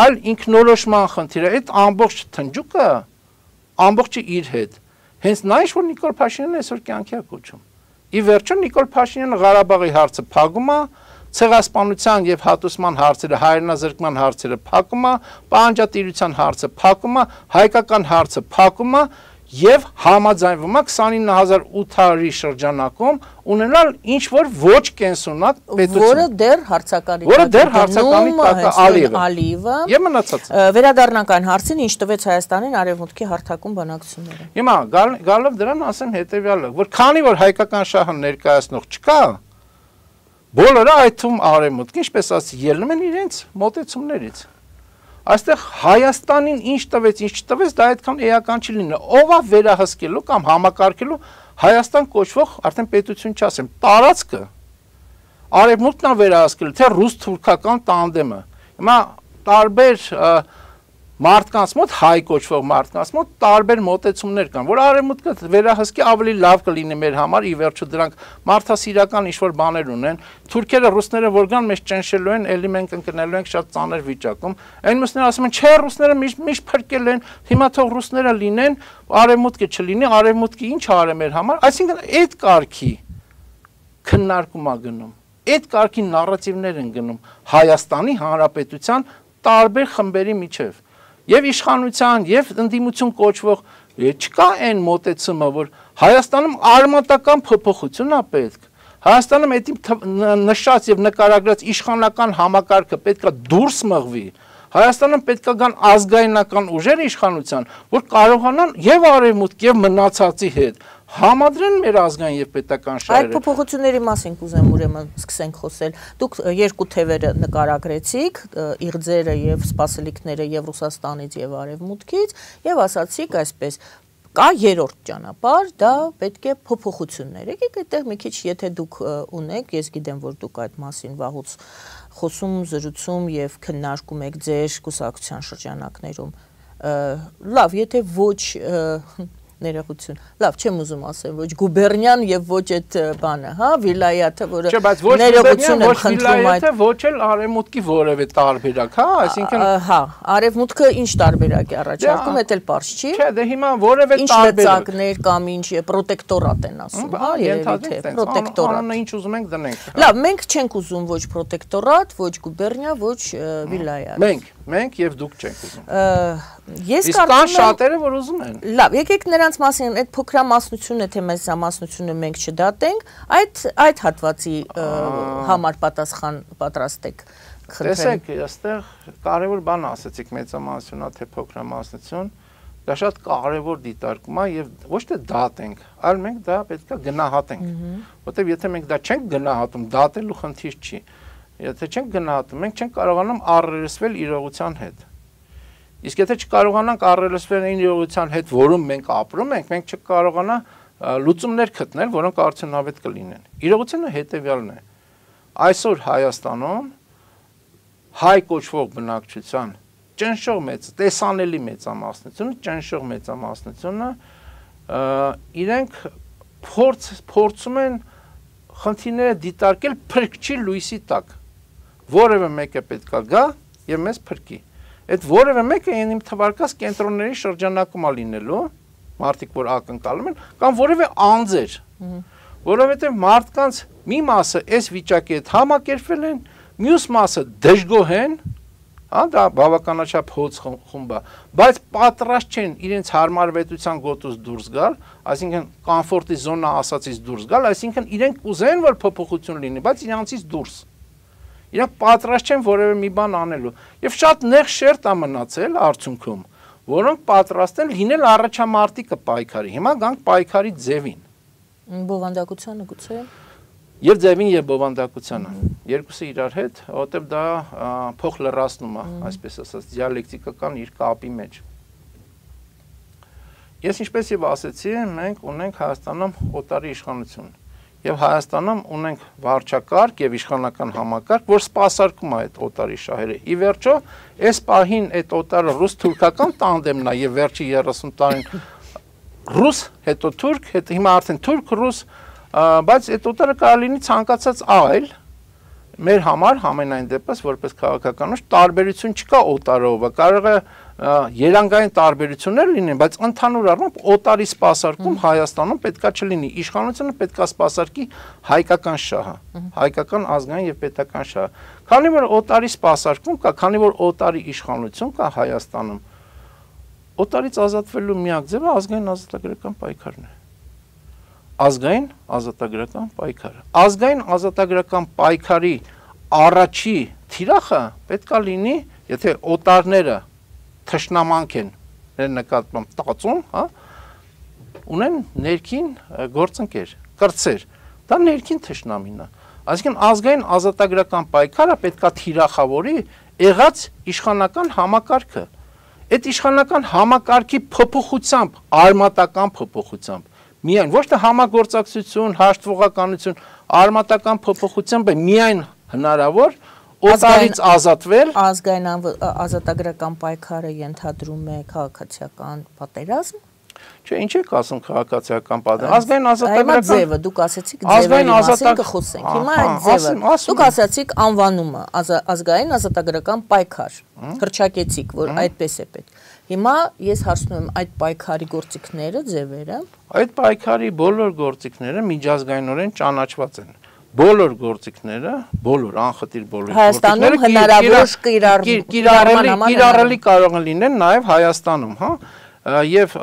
այլ ինքնորոշման խնդիր է, այդ ամբողջ թնջուկը ամբողջը իր հետ։ Հենց նա ինչ որ Նիկոլ Փաշինյանն այսօր կյանքի է կոչում։ Ի վերջո Նիկոլ Փաշինյանը Ղարաբաղի հարցը փակում է, ցեղասպանության եւ հատուցման հարցերը, հայրենազրկման հարցերը փակում է, պահանջատիրության հարցը փակում է, հայկական հարցը փակում է եւ համաձայնվում է 29800-ի շրջանակում ունենալ ինչ որ ոչ կենսունակ պետություն, որը դեռ հարցականի տակ է Ալիևը եւ մնացածը։ Վերադառնանք այն հարցին, ինչ տվեց Հայաստանին արևմուտքի հարթակում բանակցությունները։ Հիմա գալով դրան ասեմ հետեւյալը, որ քանի որ հայկական շահը ներկայացնող չկա, բոլորը այդ թվում արևմուտքը, ինչպես ասի, ելնում են իրենց մոտեցումներից։ Այստեղ Հայաստանին ինչ տվեց, ինչ չտվեց, դա այդքան էական չի լինի։ Ով է վերահսկելու կամ համակարգելու Հայաստան կոչվող արդեն պետություն չասեմ, տարածքը արևմուտքն է վերահսկելու, թե ռուս-թուրքական տանդեմը։ Հիմա տարբեր մարդկանց մոտ, հայ կոչվող մարդկանց մոտ տարբեր մոտեցումներ կան, որ արևմուտքը վերահսկի ավելի լավ կլինի մեր համար, ի վերջո դրանք մարդասիրական ինչ-որ բաներ ունեն, թուրքերը, ռուսները որ գան մեզ ճնշելու են, էլի մենք ընկնելու ենք շատ ծանր վիճակում, այն մյուսները ասում են, չէ, ռուսները միշտ փրկել են, հիմա թող ռուսները լինեն, արևմուտքը չլինի, արևմուտքը ինչ արե մեր համար, այսինքն այդ կարգի քննարկում է գնում, այդ կարգի նարատիվներ են գնում Հայաստանի Հանրապետության տարբեր խմբերի միջև։ Եվ իշխանության, եւ ընդդիմություն կոչվող չկա այն մոտեցումը, որ Հայաստանում արմատական փոփոխություն է պետք։ Հայաստանում այդ նշած եւ նկարագրած իշխանական համակարգը պետք է դուրս մղվի։ Հայաստանում պետք է գան ազգայնական ուժեր իշխանության, որ կարողանան եւ արևմուտք եւ մնացածի հետ համադրեն մեր ազգային եւ պետական շահերը։ Այդ փոփոխությունների մասին կուզեմ ուրեմն սկսենք խոսել։ Դուք երկու թևերը նկարագրեցիք, իղձերը եւ սպասելիքները եւ Ռուսաստանից եւ Արևմուտքից, եւ ասացիք այսպես. կա երրորդ ճանապարհ, դա պետք է փոփոխություններ։ Եկեք այդտեղ մի քիչ, եթե դուք ունեք, ես գիտեմ, որ դուք այդ մասին վաղուց խոսում, զրուցում եւ քննարկում եք ձեր կուսակցության շրջանակներում։ Լավ, եթե ոչ ներողություն։ Լավ, չեմ ուզում ասեմ, ոչ գուբերնիան եւ ոչ այդ բանը, հա, վիլայաթը, որը ներողություն եմ խնդրում այդ, ոչ էլ արևմուտքի որևէ տարբերակ, հա, այսինքն հա, արևմուտքը ինչ տարբերակ է առաջարկում, դա էլ պարզ չի։ Չէ, դե հիմա որևէ տարբերակ կամ ինչ պրոտեկտորատ են ասում, հա, երևի թե պրոտեկտորատ։ Անունը ինչ ուզում ենք դնենք։ Լավ, մենք չենք ուզում ոչ պրոտեկտորատ, ոչ գուբերնիա, ոչ վիլայաթ։ Մենք եւ դուք չենք ուզում։ Ես կարծում եմ շատերը որ ուզում են։ Լավ, եկեք նրանց մասին այդ փոքրամասնությունը, թե մեզ ամասնությունը մենք չդատենք, այդ հատվածի համար պատասխան պատրաստեք։ Տեսեք, այստեղ կարևոր բան ասացիք մեծամասնությունա թե փոքրամասնություն, դա շատ կարևոր դիտարկում է եւ ոչ թե դատենք, այլ մենք դա պետք է գնահատենք։ Որտեւ եթե մենք դա չենք գնահատում, դատելու խնդիր չի։ եթե չենք գնահատում, մենք չենք կարողանում առերեսվել իրողության հետ։ Իսկ եթե չկարողանանք առերեսվել այն իրողության հետ, որում մենք ապրում ենք, մենք չկարողանա լուծումներ գտնել, որոնք արդյունավետ կլինեն։ Իրողությունը հետևյալն է։ Այսօր Հայաստանում հայ կոչվող բնակչության ճնշող մեծ, տեսանելի մեծամասնությունը, ճնշող մեծամասնությունը իրենք փորձում են խնդիրները դիտարկել փրկչի լույսի տակ։ Որևէ մեկը պետքա գա եւ մեզ փրկի։ Այդ որևէ մեկը իմ թվարկած կենտրոնների շրջանակում է լինելու, մարդիկ որ ակնկալում են, կամ որևէ անձեր, որովհետեւ մարդկանց մի մասը այս վիճակի հետ համակերպվել են, մյուս մասը դժգոհ են, դա բավականաչափ հոծ խումբ է, բայց պատրաստ չեն իրենց հարմարվետության գոտուց դուրս գալ, այսինքն կոմֆորտի զոնա ասածից դուրս գալ, այսինքն իրենք կուզեն որ փոփոխություն լինի, բայց իրանցից դուրս։ Իրանք պատրաստ չեն որևէ մի բան անելու։ Եվ շատ նեղ շերտ է մնացել արդյունքում, որոնք պատրաստ են լինել առաջամարտիկը պայքարի։ Հիմա գանք պայքարի ձևին։ Բովանդակությանը գուցե։ Եվ ձևին եւ բովանդակությանը։ Երկուսը իրար հետ, որովհետեւ դա փոխ լրացնում է, այսպես ասած, դիալեկտիկական իր կապի մեջ։ Ես ինչպես եւ ասեցի, մենք ունենք Հայաստանում օտարի իշխանություն։ Եվ Հայաստանում ունենք վարչակարգ եւ իշխանական համակարգ, որ սպասարկում է այդ օտարի շահերը։ Ի վերջո, այս պահին այդ օտարը ռուս-թուրքական տանդեմն է եւ վերջի 30 տարին ռուս, հետո թուրք, հետո հիմա արդեն թուրք-ռուս, բայց այդ օտարը կարող լինի ցանկացած այլ, մեր համար ամենայն դեպս որպես քաղաքականուց տարբերություն չկա օտարով, կարող է երանգային տարբերություններ լինեն, բայց ընդհանուր առմամբ օտարի սպասարկում Հայաստանում պետքա չլինի, իշխանությունը պետքա սպասարկի հայկական շահը, հայկական ազգային եւ պետական շահը։ Քանի որ օտարի սպասարկում կա, քանի որ օտարի իշխանություն կա Հայաստանում, օտարից ազատվելու միակ ձևը ազգային ազատագրական պայքարն է։ Ազգային ազատագրական պայքարը։ Ազգային ազատագրական պայքարի առաջի թիրախը պետքա լինի, եթե օտարները թշնամանք են նկատմամբ տածում, ունեն ներքին գործընկեր, կրտսեր, դա ներքին թշնամին է։ Այսինքն ազգային ազատագրական պայքարը պետքա թիրախավորի եղած իշխանական համակարգը։ Այդ իշխանական համակարգի փոփոխությամբ, արմատական փոփոխությամբ, միայն ոչ թե համագործակցություն, հաշտվողականություն, արմատական փոփոխությամբ է միայն հնարավոր օտարից ազատվել։ Ազգային ազատագրական պայքարը ենթադրում է քաղաքացիական պատերազմ։ Չէ, ինչ եք ասում քաղաքացիական պատերազմ։ Ազգային ազատագրական ձևը, դուք ասացիք ձևերի մասին կխոսենք։ Հիմա այդ ձևը, դուք ասացիք անվանումը ազգային ազատագրական պայքար։ Հռչակեցիք, որ այդպես է պետք։ Հիմա ես հարցնում եմ այդ պայքարի գործիքները, ձևերը։ Այդ պայքարի բոլոր գործիքները միջազգայինորեն ճանաչված են։ Բոլոր գործիքները, բոլոր անխտիր բոլոր Հայաստանում հնարավոր կիրառելի կարող են լինել նաև Հայաստանում, հա, եւ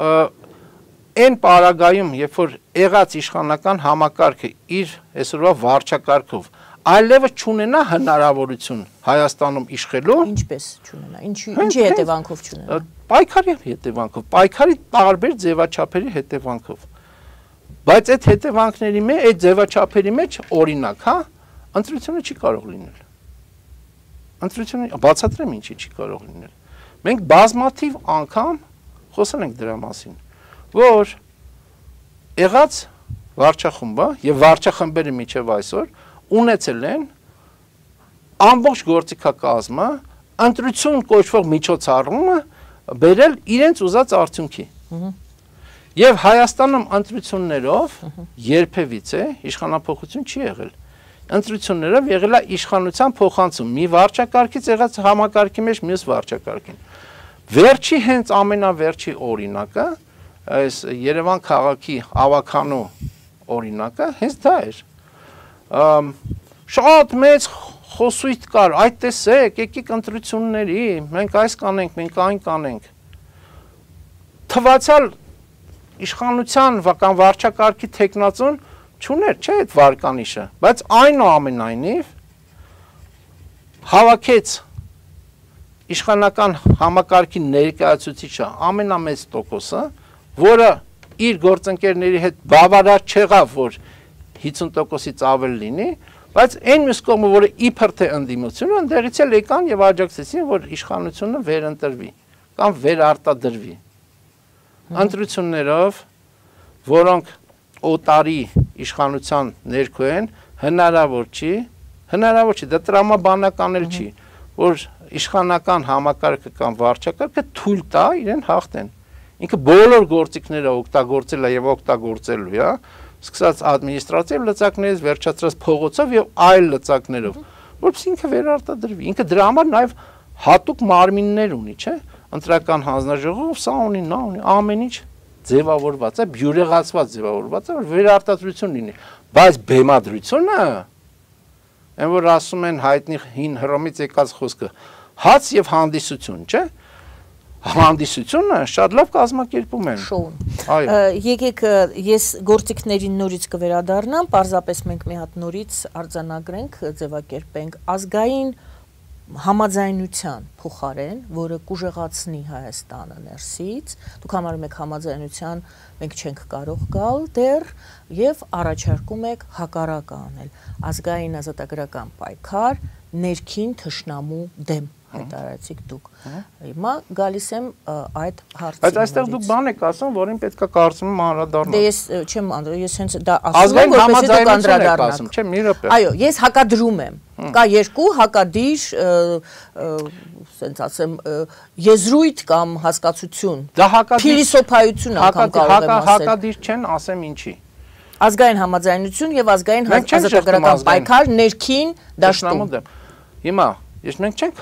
այն պարագայում, երբ որ եղած իշխանական համակարգը իր այսօրվա վարչակարգով այլևս չունենա հնարավորություն Հայաստանում իշխելու, ինչպես չունենա, ինչի հետևանքով չունենա։ Պայքարի հետևանքով, պայքարի տարբեր ձևաչափերի հետևանքով։ Բայց այդ հետևանքների մեջ, այդ ձևաչափերի մեջ օրինակ, հա, ընտրությունը չի կարող լինել։ Ընտրությունը բացատրեմ ինչի չի կարող լինել։ Մենք բազմաթիվ անգամ խոսել ենք դրա մասին, որ եղած վարչախումբը եւ վարչախմբերը միջև այսօր ունեցել են ամբողջ գործիքակազմը ընտրություն կոչվող միջոցառումը բերել իրենց ուզած արդյունքի։ Եվ Հայաստանում ընտրություններով երբևիցե իշխանափոխություն չի եղել։ Ընտրություններով եղել է իշխանության փոխանցում մի վարչակարգից եղած համակարգի մեջ մյուս վարչակարգին։ Վերջի հենց ամենավերջի օրինակը, այս Երևան քաղաքի ավականու օրինակը հենց դա էր։ Շատ մեծ խոսույթ կար, այդ տեսեք, եկեք ընտրությունների, մենք այս կանենք, մենք այն կանենք։ Թվացյալ իշխանության կամ վարչակարգի տեխնացուն չուներ, չէ՞ այդ վարկանիշը, բայց այնուամենայնիվ հավաքեց իշխանական համակարգի ներկայացուցիչը ամենամեծ տոկոսը, որը իր գործընկերների հետ բավարար չեղավ, որ 50%-ից ավել լինի, Բայց այն մյուս կողմը, որը իբր թե ընդդիմությունը, ընդերից էլ եկան եւ աջակցեցին, որ իշխանությունը վերընտրվի կամ վերարտադրվի։ Ընտրություններով, որոնք օտարի իշխանության ներքո են, հնարավոր չի, դա տրամաբանական էլ չի, որ իշխանական համակարգը կամ վարչակարգը թույլ տա իրեն հաղթեն։ Ինքը բոլոր գործիքները օգտագործել է եւ օգտագործելու է, սկսած ադմինիստրատիվ լծակներից, վերջացրած փողոցով եւ այլ լծակներով, որովհետեւ ինքը վերարտադրվի։ Ինքը դրա համար նաեւ հատուկ մարմիններ ունի, չէ՞։ Ընտրական հանձնաժողով սա ունի, նա ունի, ամեն ինչ ձևավորված է, բյուրեղացված ձևավորված է, որ վերարտադրություն լինի։ Բայց բեմադրությունը, այն որ ասում են հայտնի հին Հռոմից եկած խոսքը, հաց եւ հանդիսություն, չէ՞։ Հանդիսությունը շատ լավ կազմակերպում են։ Շոուն։ Եկեք ես գործիքներին նորից կվերադառնամ, պարզապես մենք մի հատ նորից արձանագրենք, ձևակերպենք ազգային համաձայնության փոխարեն, որը կուժեղացնի Հայաստանը ներսից, դուք համարում եք համաձայնության, մենք չենք կարող գալ դեռ եւ առաջարկում եք հակառակը անել, ազգային ազատագրական պայքար ներքին թշնամու դեմ հայտարարեցիք դուք։ Հիմա գալիս եմ այդ հարցին։ Բայց այստեղ դուք բան եք ասում, որին պետք է կարծում եմ անդրադառնալ։ Դե ես չեմ ես հենց դա ասում եմ, որպեսզի դուք անդրադառնաք։ Չէ, մի րոպե։ Այո, ես հակադրում եմ։ Կա երկու հակադիր, ասենց ասեմ, եզրույթ կամ հասկացություն։ Դա հակադիր փիլիսոփայություն անգամ կարող եմ ասել։ Հակադիր չեն, ասեմ ինչի։ Ազգային համաձայնություն եւ ազգային ազատագրական պայքար ներքին դաշտում։ Հիմա Ես մենք չենք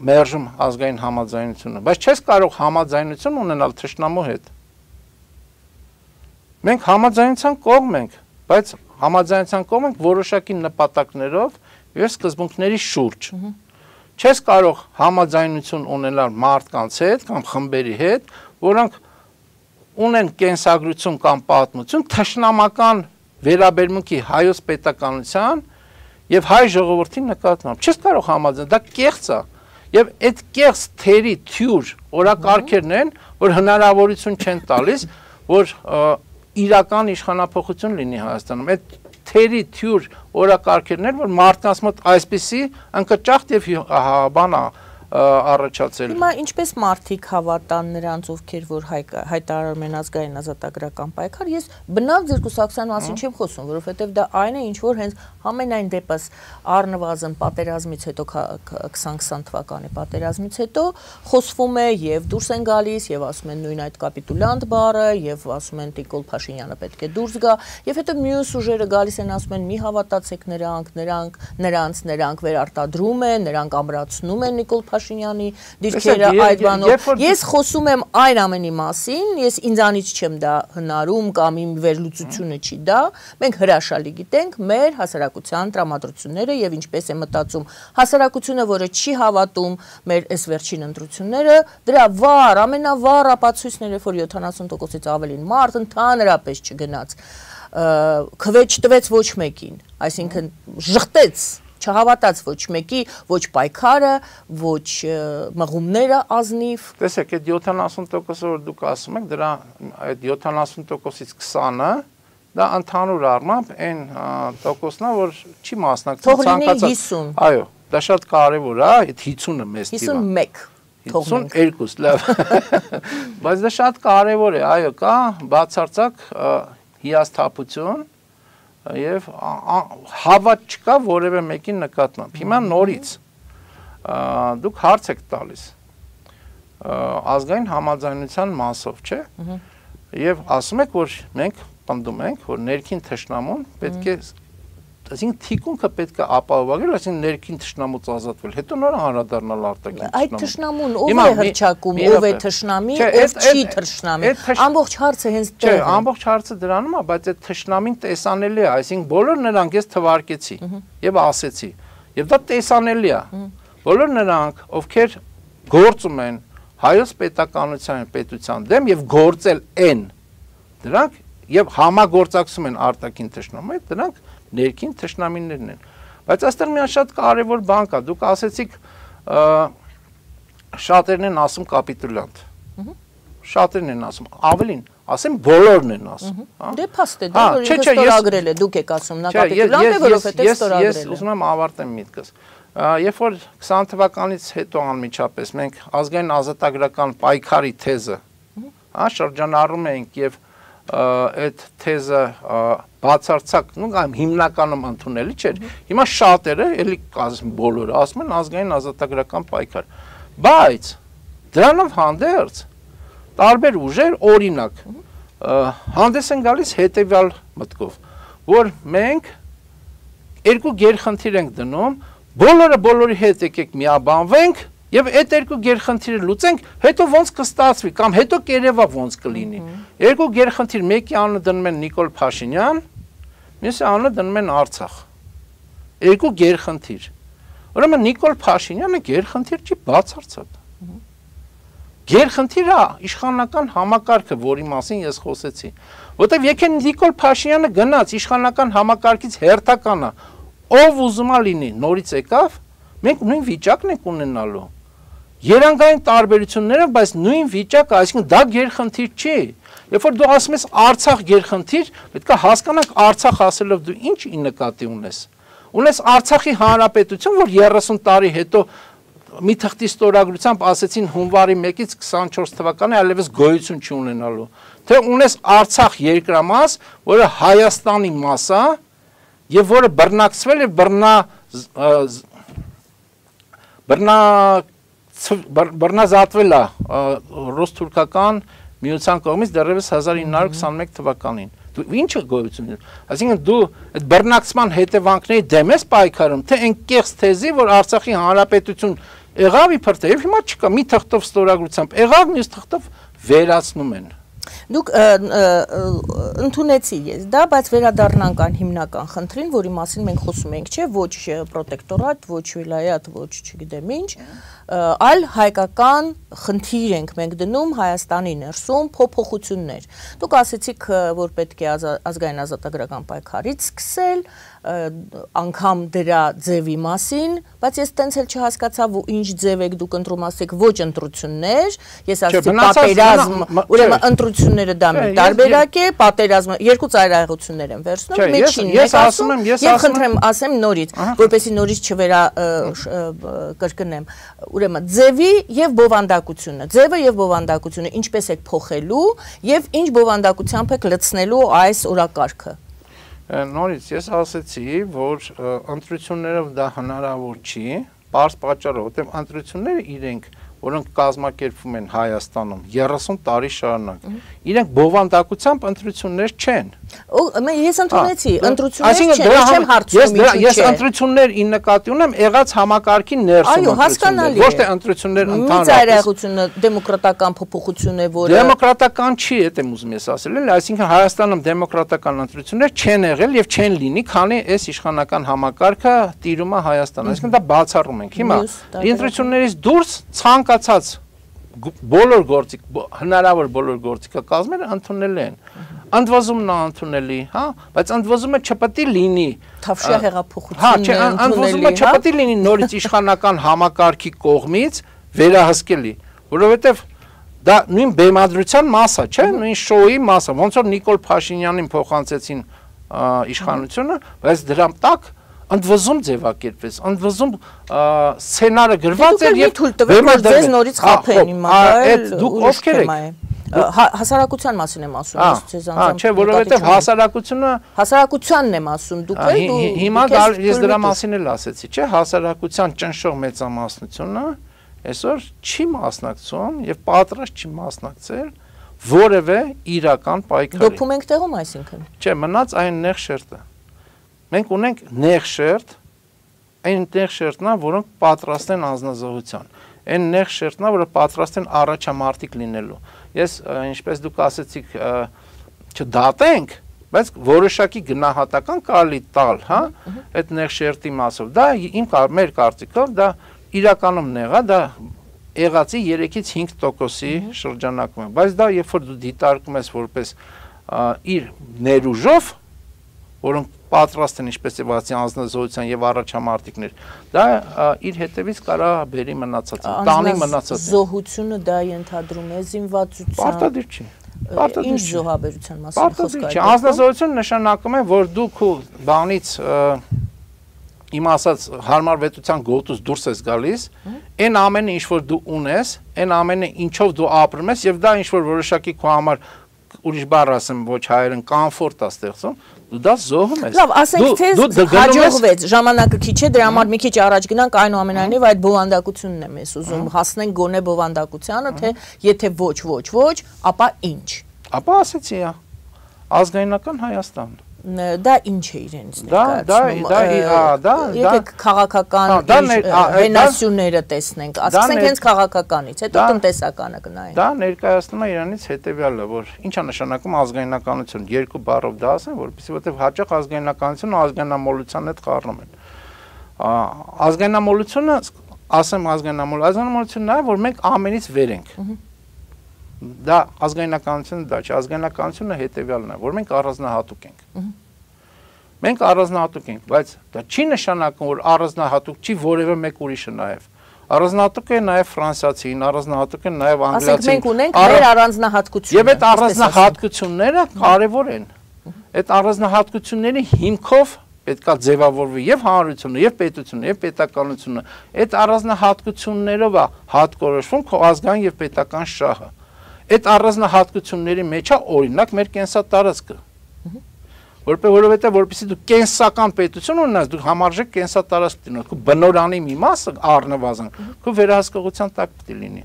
մերժում ազգային համաձայնությունը, բայց չես կարող համաձայնություն ունենալ թշնամու հետ։ Մենք համաձայնության կողմ ենք, բայց համաձայնության կողմ ենք որոշակի նպատակներով եւ սկզբունքների շուրջ։ Չես կարող համաձայնություն ունենալ մարդկանց հետ կամ խմբերի հետ, որոնք ունեն կենսագրություն կամ պատմություն թշնամական վերաբերմունքի հայոց պետականության եւ հայ ժողովրդի նկատմամբ չես կարող համաձայնել, դա կեղծ է եւ այդ կեղծ թերի թյուր օրակարգերն են, որ հնարավորություն չեն տալիս, որ իրական իշխանափոխություն լինի Հայաստանում։ Այդ թերի թյուր օրակարգերն են, որ մարդկանց մոտ այսպիսի ընկճախտ եւ բանա առաջացել։ Հիմա ինչպես մարդիկ հավատան նրանց, ովքեր որ հայտարարում են ազգային ազատագրական պայքար, ես բնավ ձեր կուսակցության մասին չեմ խոսում, որովհետև դա այն է, ինչ որ հենց ամենայն դեպս առնվազն պատերազմից հետո 2020 թվականի պատերազմից հետո խոսվում է եւ դուրս են գալիս եւ ասում են նույն այդ կապիտուլյանտ բառը եւ ասում են Նիկոլ Փաշինյանը պետք է դուրս գա եւ հետո մյուս ուժերը գալիս են ասում են մի հավատացեք նրանք վերարտադրում են, նրանք ամրացնում են Նիկոլ Փաշինյանի դիրքերը այդ բանով։ Ես խոսում եմ այն ամենի մասին, ես ինձանից չեմ դա հնարում կամ իմ վերլուծությունը չի դա, մենք հրաշալի գիտենք մեր հասարակության տրամադրությունները եւ ինչպես է մտածում հասարակությունը, որը չի հավատում մեր այս վերջին ընտրությունները, դրա ամենավառ ապացույցները, որ 70%-ից ավելին մարդ ընդհանրապես չգնաց, քվեջ տվեց ոչ մեկին, այսինքն ժխտեց չհավատաց ոչ մեկի, ոչ պայքարը, ոչ մղումները ազնիվ։ Տեսեք, այդ 70%-ը որ դուք ասում եք, դրա այդ 70%-ից 20-ը դա ընդհանուր առմամբ այն տոկոսն է, որ չի մասնակցում ցանկացած։ Այո, դա շատ կարևոր է, այդ 50-ը մեծ թիվ է։ 51 52, լավ։ Բայց դա շատ կարևոր է, այո, կա բացարձակ հիասթափություն եւ հավատ չկա որևէ մեկի նկատմամբ։ Հիմա նորից դուք հարց եք տալիս ազգային համաձայնության մասով, չէ՞։ Եվ ասում եք, որ մենք պնդում ենք, որ ներքին թշնամուն պետք է, այսինքն թիկունքը պետք է ապահովագրել, այսինքն ներքին թշնամուց ազատվել, հետո նոր անդրադառնալ արտաքին թշնամուն։ Այդ թշնամուն ով է հռչակում, ով է թշնամի, ով չի թշնամի։ Ամբողջ հարցը հենց դա է։ Չէ, ամբողջ հարցը դրանում է, բայց այդ թշնամին տեսանելի է, այսինքն բոլոր նրանք ես թվարկեցի եւ ասեցի, եւ դա տեսանելի է։ Բոլոր նրանք, ովքեր գործում են հայոց պետության դեմ եւ գործել են, դրանք եւ համագործակցում են արտաքին թշնամու հետ, դրանք ներքին թշնամիներն են։ Բայց այստեղ մի շատ կարևոր բան կա, դուք ասեցիք շատերն են ասում կապիտուլյանտ։ Շատերն են ասում, ավելին, ասեմ բոլորն են ասում, Դե փաստ է դա, որ ինքը ստորագրել է, դուք եք ասում, նա կապիտուլանտ է, որովհետև ստորագրել է։ Ես ուզում եմ ավարտեմ միտքս։ Երբ որ 20 թվականից հետո անմիջապես մենք ազգային ազատագրական պայքարի թեզը, շրջանառում էինք եւ այդ թեզը բացարձակ, հիմնականում ընդունելի չէր։ Հիմա շատերը, էլի ասում բոլորը, ասում են ազգային ազատագրական պայքար։ Բայց դրանով հանդերձ տարբեր ուժեր, օրինակ, հանդես են գալիս հետևյալ մտքով, որ մենք երկու գերխնդիր ենք դնում, բոլորը բոլորի հետ եկեք միաբանվենք եւ այդ երկու գերխնդիրը լուծենք, հետո ոնց կստացվի կամ հետո կերևա ոնց կլինի։ Երկու գերխնդիր, մեկի անունը դնում են Նիկոլ Փաշինյան, մյուսի անունը դնում են Արցախ։ Երկու գերխնդիր։ Ուրեմն Նիկոլ Փաշինյանը գերխնդիր չի, բացարձակ։ Գերխնդիրը իշխանական համակարգը, որի մասին ես խոսեցի, որտեղ եկեն Նիկոլ Փաշինյանը գնաց իշխանական համակարգից հերթականը, ով ուզում է լինի, նորից եկավ, մենք նույն վիճակն ենք ունենալու։ Երանգային տարբերությունները, բայց նույն վիճակը, այսինքն դա գերխնդիր չի։ Երբ որ դու ասում ես Արցախ գերխնդիր, պետք է հասկանանք Արցախ ասելով դու ինչ նկատի ունես։ Ունես Արցախի հանրապետություն, որ 30 տարի հետո մի թղթի ստորագրությամբ ասեցին հունվարի 1-ից 24 թվականի այլևս գոյություն չի ունենալու։ Թե ունես Արցախ երկրամաս, որը Հայաստանի մաս է, եւ որը բռնակցվել է բռնազատվել է ռուս-թուրքական միության կողմից դեռևս 1921 թվականին։ Դու ինչը գոյություն ունի։ Այսինքն դու այդ բռնակցման հետևանքների դեմ ես պայքարում, թե այն կեղծ թեզի, որ Արցախի հանրապետություն եղավ իբր թե հիմա չկա, մի թղթով ստորագրությամբ եղավ, մյուս թղթով վերացնում են։ Դուք ընդունեցի ես դա, բայց վերադառնանք այն հիմնական խնդրին, որի մասին մենք խոսում ենք, չէ, ոչ պրոտեկտորատ, ոչ վիլայաթ, ոչ չգիտեմ ինչ, այլ հայկական խնդիր ենք մենք դնում Հայաստանի ներսում փոփոխություններ։ Դուք ասեցիք, որ պետք է ազգային ազատագրական պայքարից սկսել, անգամ դրա ձևի մասին, բայց ես տենց էլ չհասկացա, ինչ ձև եք դուք ընտրում, ասեք ոչ ընտրություններ, ես ասեցի պատերազմ, ուրեմն ընտրությունները դա մի տարբերակ է, պատերազմը երկու ծայրահեղություններ են վերցնում, մեջին եք ասում, եւ խնդրեմ ասեմ նորից, որպեսզի նորից չվերակրկնեմ, ուրեմն ձևի եւ բովանդակությունը, ձևը եւ բովանդակությունը ինչպես եք փոխելու եւ ինչ բովանդակությամբ եք լցնելու այս օրակարգը։ Նորից ես ասեցի, որ ընտրություններով դա հնարավոր չի, պարզ պատճառով, որտեղ ընտրությունները իրենք, որոնք կազմակերպվում են Հայաստանում 30 տարի շարունակ, իրենք բովանդակությամբ ընտրություններ չեն։ Ես ընդունեցի, ընտրություններ չեն, ես չեմ հարցնում ինչու չէ։ Ես ընտրություններ ի նկատի ունեմ եղած համակարգի ներսում ընտրություններ, ոչ թե ընտրություններ ընդհանրապես։ Մի ծայրահեղությունը դեմոկրատական փոփոխություն է, որը դեմոկրատական չի, դա եմ ուզում ես ասել, էլի, այսինքն Հայաստանում դեմոկրատական ընտրություններ չեն եղել եւ չեն լինի, քանի այս իշխանական համակարգը տիրում է Հայաստան, այսինքն դա բացառում ենք։ Հիմա ընտրություններից դուրս ցանկացած բոլոր գործիք, հնարավոր բոլոր գործիքը կազմերը ընդունել են։ Ընդվզումն է ընդունելի, հա, բայց ընդվզումը չպետք է լինի Թավշյա հեղափոխությունն է ընդունելի, ընդվզումը չպետք է լինի նորից իշխանական համակարգի կողմից վերահսկելի, որովհետև դա նույն բեմադրության մաս է, չէ՞, նույն շոուի մաս է, ոնց որ Նիկոլ Փաշինյանին փոխանցեցին իշխանությունը, բայց դրա տակ ընդվզում ձևակերպվեց, ընդվզում սցենարը գրված էր եւ ձեզ նորից խափեն հիմա, այդ դուք ովքեր եք։ Հասարակության մասին եմ ասում, ես ձեզ անձամբ։ Չէ, որովհետեւ հասարակությանն եմ ասում, դուք եք հիմա ես դրա մասին էլ ասեցի, չէ, հասարակության ճնշող մեծամասնությունը այսօր չի մասնակցում եւ պատրաստ չի մասնակցել որևէ իրական պայքարի։ Դոփում ենք տեղում, այսինքն։ Չէ, մնաց այն նեղ շերտը։ Մենք ունենք նեղ շերտ, այն նեղ շերտն է, որոնք պատրաստ են անձնազոհության։ Այն նեղ շերտն է, որը պատրաստ են առաջամարտիկ լինելու։ Ես, ինչպես դուք ասեցիք, չդատենք, բայց որոշակի գնահատական կարելի տալ, հա, այդ նեղ շերտի մասով։ Դա մեր կարծիքով դա իրականում նեղ է, դա եղածի 3-ից 5%-ի շրջանակում է, բայց դա երբ որ դու դիտարկում ես որպես իր ներուժով, որոնք պատրաստ են ինչպես եւ ասի անձնազոհության եւ առաջամարտիկներ, դա իր հետևից կարա բերի մնացածը, տանի մնացածը։ Զոհությունը դա ենթադրում է զինվածության։ Պարտադիր չի։ Ինչ զոհաբերության մասին խոսք է։ Անձնազոհություն նշանակում է, որ դու քո բանից իմ ասած հարմարվետության գոտուց դուրս ես գալիս, այն ամենը ինչ որ դու ունես, այն ամենը ինչով դու ապրում ես եւ դա ինչ որ որոշակի քո համար ուրիշ բառ ասեմ, ոչ հայերեն կոմֆորտ է ստեղծում, դու դա զոհում ես։ Լավ, ասենք թե հաջողվեց, ժամանակը քիչ է, դրա համար մի քիչ առաջ գնանք, այնուամենայնիվ այդ բովանդակությունն եմ ես ուզում հասնենք գոնե բովանդակությանը, թե եթե ոչ, ապա ինչ։ Ապա ասեցի, ազգայնական Հայաստան։ Դա ինչ է իրենից ներկայացնում։ Եթե քաղաքական հենասյուները տեսնենք, ասենք հենց քաղաքականից, հետո տնտեսականը կնայենք։ Դա ներկայացնում է իրանից հետևյալը, որ ինչ է նշանակում ազգայնականություն, երկու բառով դա ասեմ, որովհետև հաճախ ազգայնականությունը ազգայնամոլության հետ խառնում են։ Ազգայնամոլությունը, ասեմ ազգայնամոլությունն է, որ մենք ամենից վեր ենք։ Դա ազգայնականությունը դա չէ, ազգայնականությունը հետևյալն է, որ մենք առանձնահատուկ ենք։ Մենք առանձնահատուկ ենք, բայց դա չի նշանակում, որ առանձնահատուկ չի որևէ մեկ ուրիշը նաև։ Առանձնահատուկ է նաև ֆրանսիացին, առանձնահատուկ է նաև անգլիացին։ Ասենք մենք ունենք մեր առանձնահատկությունը։ Եվ այդ առանձնահատկությունները կարևոր են։ Այդ առանձնահատկությունների հիմքով պետքա ձևավորվի եւ հանրությունը, եւ պետությունը, եւ պետականությունը։ Այդ առանձնահատկություններով է հատկորոշվում քո ազգային եւ պետական շահը։ Այդ առանձնահատկությունների մեջ է օրինակ մեր կենսատարածքը։ Որովհետեւ որպեսզի դու կենսական պետություն ունենաս, դու համարժեք կենսատարածք ունենաս, քո բնորանի մի մասը առնվազն քո վերահսկողության տակ պետք է լինի։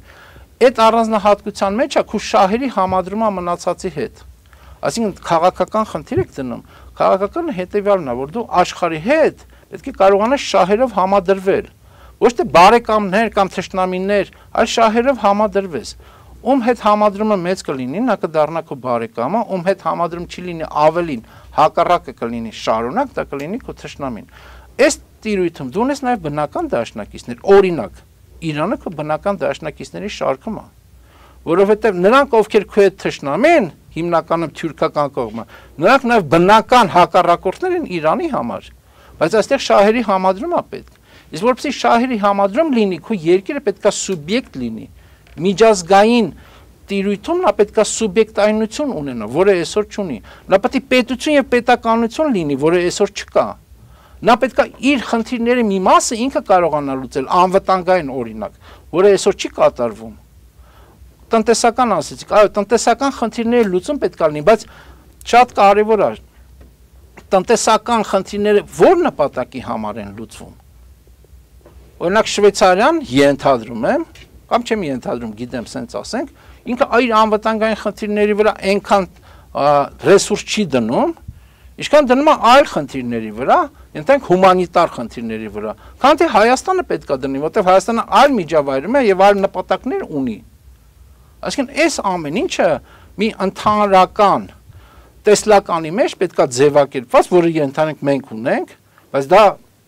Այդ առանձնահատկության մեջ է քո շահերի համադրումը մնացածի հետ։ Այսինքն քաղաքական խնդիր եք դնում, քաղաքականը հետևյալն է, որ դու աշխարհի հետ պետք է կարողանաս շահերով համադրվել, ոչ թե բարեկամներ կամ թշնամիներ, այլ շահերով համադրվես։ Ում հետ համադրումը մեծ կլինի, նա կդառնա քո բարեկամը, ում հետ համադրում չի լինի ավելին, հակառակը կլինի շարունակ, դա կլինի քո թշնամին։ Այս տիրույթում դու ունես նաև բնական դաշնակիցներ, օրինակ, Իրանը քո բնական դաշնակիցների շարքում է, որովհետև նրանք, ովքեր քո հետ թշնամեն, հիմնականում թյուրքական կողմը, նրանք նաև բնական հակառակորդներ են Իրանի համար, բայց այստեղ շահերի համադրում է պետք։ Իսկ որպեսզի շահերի համադրում լինի, քո երկիրը պետք է սուբյեկտ լինի, միջազգային տիրույթում նա պետք է սուբյեկտայնություն ունենա, որը այսօր չունի։ Նա պետք է պետություն եւ պետականություն լինի, որը այսօր չկա։ Նա պետք է իր խնդիրների մի մասը ինքը կարողանա լուծել, անվտանգային օրինակ, որը այսօր չի կատարվում։ Տնտեսական ասեցիք, այո, տնտեսական խնդիրների լուծում պետք է լինի, բայց շատ կարևոր է տնտեսական խնդիրները ո՞ր նպատակի համար են լուծվում։ Օրինակ Շվեյցարիան ենթադրում եմ, կամ չեմ ենթադրում, գիտեմ, սենց ասենք, ինքը այդ անվտանգային խնդիրների վրա այնքան ռեսուրս չի դնում, ինչքան դնում է այլ խնդիրների վրա, ենթենք հումանիտար խնդիրների վրա, քան թե Հայաստանը պետք է դնի, որտեղ Հայաստանը այլ միջավայրում է եւ այլ նպատակներ ունի։ Այսինքն այս ամեն ինչը մի ընդհանրական տեսլականի մեջ պետք է ձևակերպված, որը ենթանենք մենք ունենք, բայց դա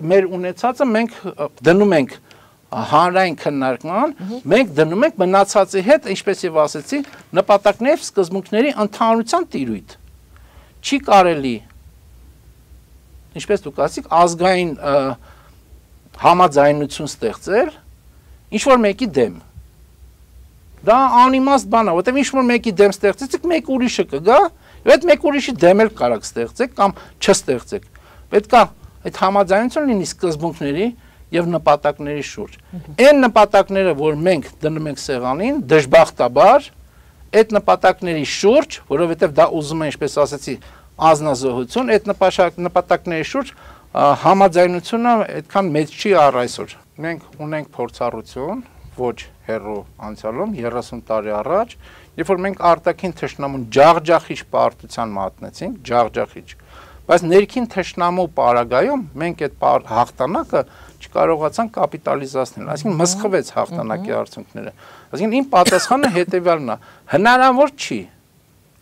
մեր ունեցածը մենք դնում ենք հանրային քննարկման, մենք դնում ենք մնացածի հետ, ինչպես եւ ասեցի, նպատակներ սկզբունքների ընդհանրության տիրույթ։ Չի կարելի, ինչպես դուք ասիք, ազգային համաձայնություն ստեղծել ինչ որ մեկի դեմ։ Դա անիմաստ բան է, որտեղ ինչ որ մեկի դեմ ստեղծեցիք, մեկ ուրիշը կգա, եւ այդ մեկ ուրիշի դեմ էլ կարաք ստեղծեք կամ չստեղծեք։ Պետք է այդ համաձայնությունը լինի սկզբունքների եւ նպատակների շուրջ։ Այն նպատակները, որ մենք դնում ենք սեղանին, դժբախտաբար այդ նպատակների շուրջ, որովհետեւ դա ուզում է, ինչպես ասացի, ազնազոհություն, այդ նպատակների շուրջ համաձայնությունը այդքան մեծ չի առ այսօր։ Մենք ունենք փորձառություն, ոչ հեռու անցյալում 30 տարի առաջ, երբ որ մենք արտաքին թշնամուն ջախջախիչ պարտության մատնեցինք, ջախջախիչ, բայց ներքին թշնամու պարագայում մենք այդ հաղթանակը չկարողացան կապիտալիզացնել, այսինքն մսխվեց հաղթանակի արդյունքները։ Այսինքն իմ պատասխանը հետևյալն է.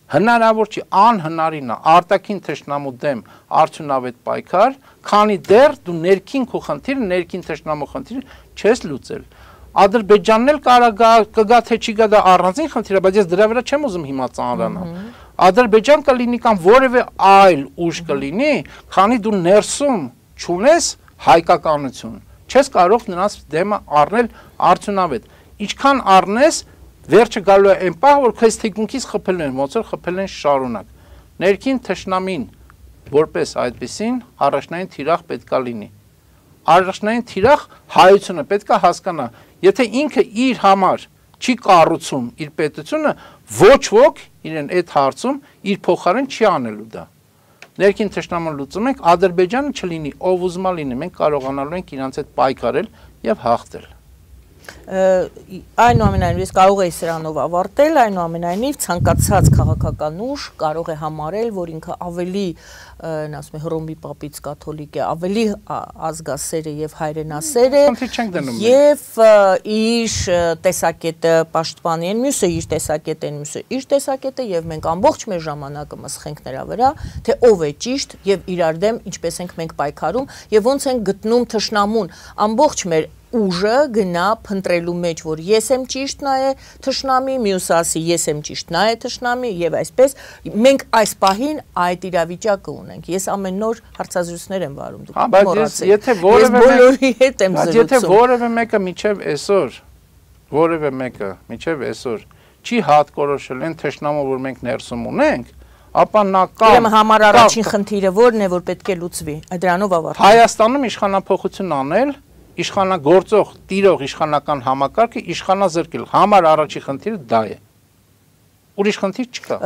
հնարավոր չի, անհնարին է արտաքին թշնամու դեմ արդյունավետ պայքար, քանի դեռ դու ներքին քո խնդիրը, ներքին թշնամու խնդիրը չես լուծել։ Ադրբեջանն էլ կգա թե չի գա, դա առանձին խնդիր է, բայց ես դրա վրա չեմ ուզում հիմա ծանրանալ։ Ադրբեջան կլինի կամ որևէ այլ ուժ կլինի, քանի դու ներսում չունես հայկականություն, չես կարող նրանց դեմը առնել արդյունավետ։ Ինչքան առնես, վերջը գալու է այն պահ, որ քեզ թիկունքից խփել են, ոնց որ խփել են շարունակ։ Ներքին թշնամին որպես այդպեսին առաջնային թիրախ պետքա լինի։ Առաջնային թիրախ հայությունը պետքա հասկանա, եթե ինքը իր համար չի կառուցում իր պետությունը, ոչ ոք իրեն այդ հարցում իր փոխարեն չի անելու դա։ Ներքին թշնամուն լուծում ենք, Ադրբեջանը չլինի, ով ուզում է լինի, մենք կարողանալու ենք իրանց հետ պայքարել եւ հաղթել։ Այնուամենայնիվ կարող է սրանով ավարտել, այնուամենայնիվ ցանկացած քաղաքական ուժ կարող է համարել, որ ինքը ավելի ասում է Հռոմի պապից կաթոլիկ է, ավելի ազգասեր է եւ հայրենասեր է եւ իր տեսակետը պաշտպանի են, մյուսը իր տեսակետը են, մյուսը իր տեսակետը եւ մենք ամբողջ մեր ժամանակը մսխենք նրա վրա, թե ով է ճիշտ եւ իրար դեմ ինչպես ենք մենք պայքարում եւ ոնց ենք գտնում թշնամուն ամբողջ մեր ուժը գնա փնտրելու մեջ, որ ես եմ ճիշտ, նա է թշնամի, մյուսը ասի ես եմ ճիշտ, նա է թշնամի եւ այսպես մենք այս պահին այդ իրավիճակը ունենք։ Ես ամեն նոր հարցազրույցներ եմ վարում, դուք մոռացեք։ Եթե որևէ մեկը միջև այսօր չի հատկորոշել այն թշնամը, որ մենք ներսում ունենք, ապա նա կամ Ուրեմն համար առաջին խնդիրը որն է, որ պետք է լուծվի։ Դրանով ավարտենք։ Հայաստանում իշխանափոխություն անել իշխանագործող, տիրող իշխանական համակարգը իշխանազրկել, համար առաջի խնդիրը դա է։ Ուրիշ խնդիր չկա։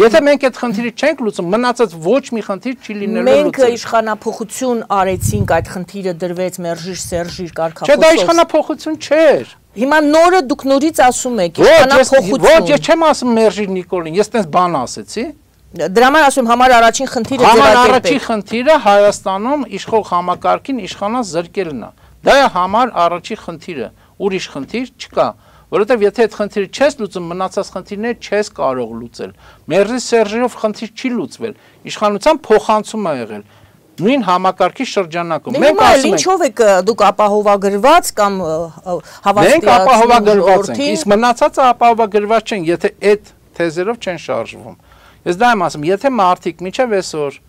Եթե մենք այդ խնդիրը չենք լուծում, մնացած ոչ մի խնդիր չի լինելու լուծել։ Մենք իշխանափոխություն արեցինք, այդ խնդիրը դրվեց մերժիր սերժիր կարգախոսով։ Չէ, դա իշխանափոխություն չէր։ Հիմա նորը դուք նորից ասում եք իշխանափոխություն։ Ոչ, ես չեմ ասում մերժիր Նիկոլին, ես տես բան ասեցի։ Դրա համար ասում համար առաջին խնդիրը Համար առաջին խնդիրը Հայաստանում իշխող համակարգին իշխանազրկելն է։ Դա է համար առաջի խնդիրը, ուրիշ խնդիր չկա, որովհետև եթե այդ խնդիրը չես լուծում, մնացած խնդիրները չես կարող լուծել։ Մերժի սերժերով խնդիր չի լուծվել, իշխանության փոխանցում է եղել նույն համակարգի շրջանակում։ Մենք ասում ենք, ինչով եք դուք ապահովագրված կամ հավաստիացնում։ Մենք ապահովագրված ենք, իսկ մնացածը ապահովագրված չեն, եթե այդ թեզերով չեն շարժվում։ Ես դա եմ ասում, եթե մարդիկ միջև այսօր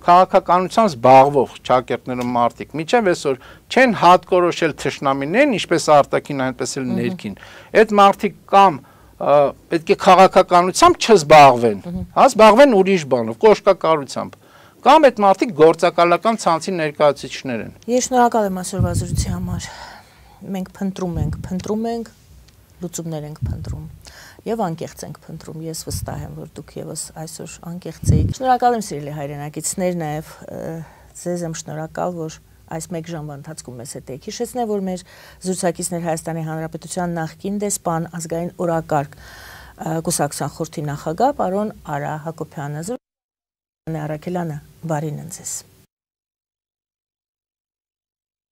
քաղաքականությամբ զբաղվող ճակերտներում մարդիկ միջև այսօր չեն հատկորոշել թշնամիներին, ինչպես արտաքին, այնպես էլ ներքին։ Այդ մարդիկ կամ պետք է քաղաքականությամբ չզբաղվեն, հա, զբաղվեն ուրիշ բանով, կոշկակարությամբ, կամ այդ մարդիկ գործակալական ցանցի ներկայացուցիչներ են։ Ես շնորհակալ եմ այսօրվա զրույցի համար։ Մենք փնտրում ենք, լուծումներ ենք փնտրում։ Եվ անկեղծ ենք փնտրում, ես վստահ եմ, որ դուք եւս այսօր անկեղծ եք։ Շնորհակալ եմ սիրելի հայրենակիցներ, նաեւ ձեզ եմ շնորհակալ, որ այս մեկ ժամվա ընթացքում մեզ հետ եք։ Հիշեցնեմ, որ մեր զրուցակիցներ Հայաստանի Հանրապետության նախկին դեսպան, ազգային օրակարգ կուսակցության խորհրդի նախագահ պարոն Արա Հակոբյանը, Արաքելյանը, բարին ընձեզ։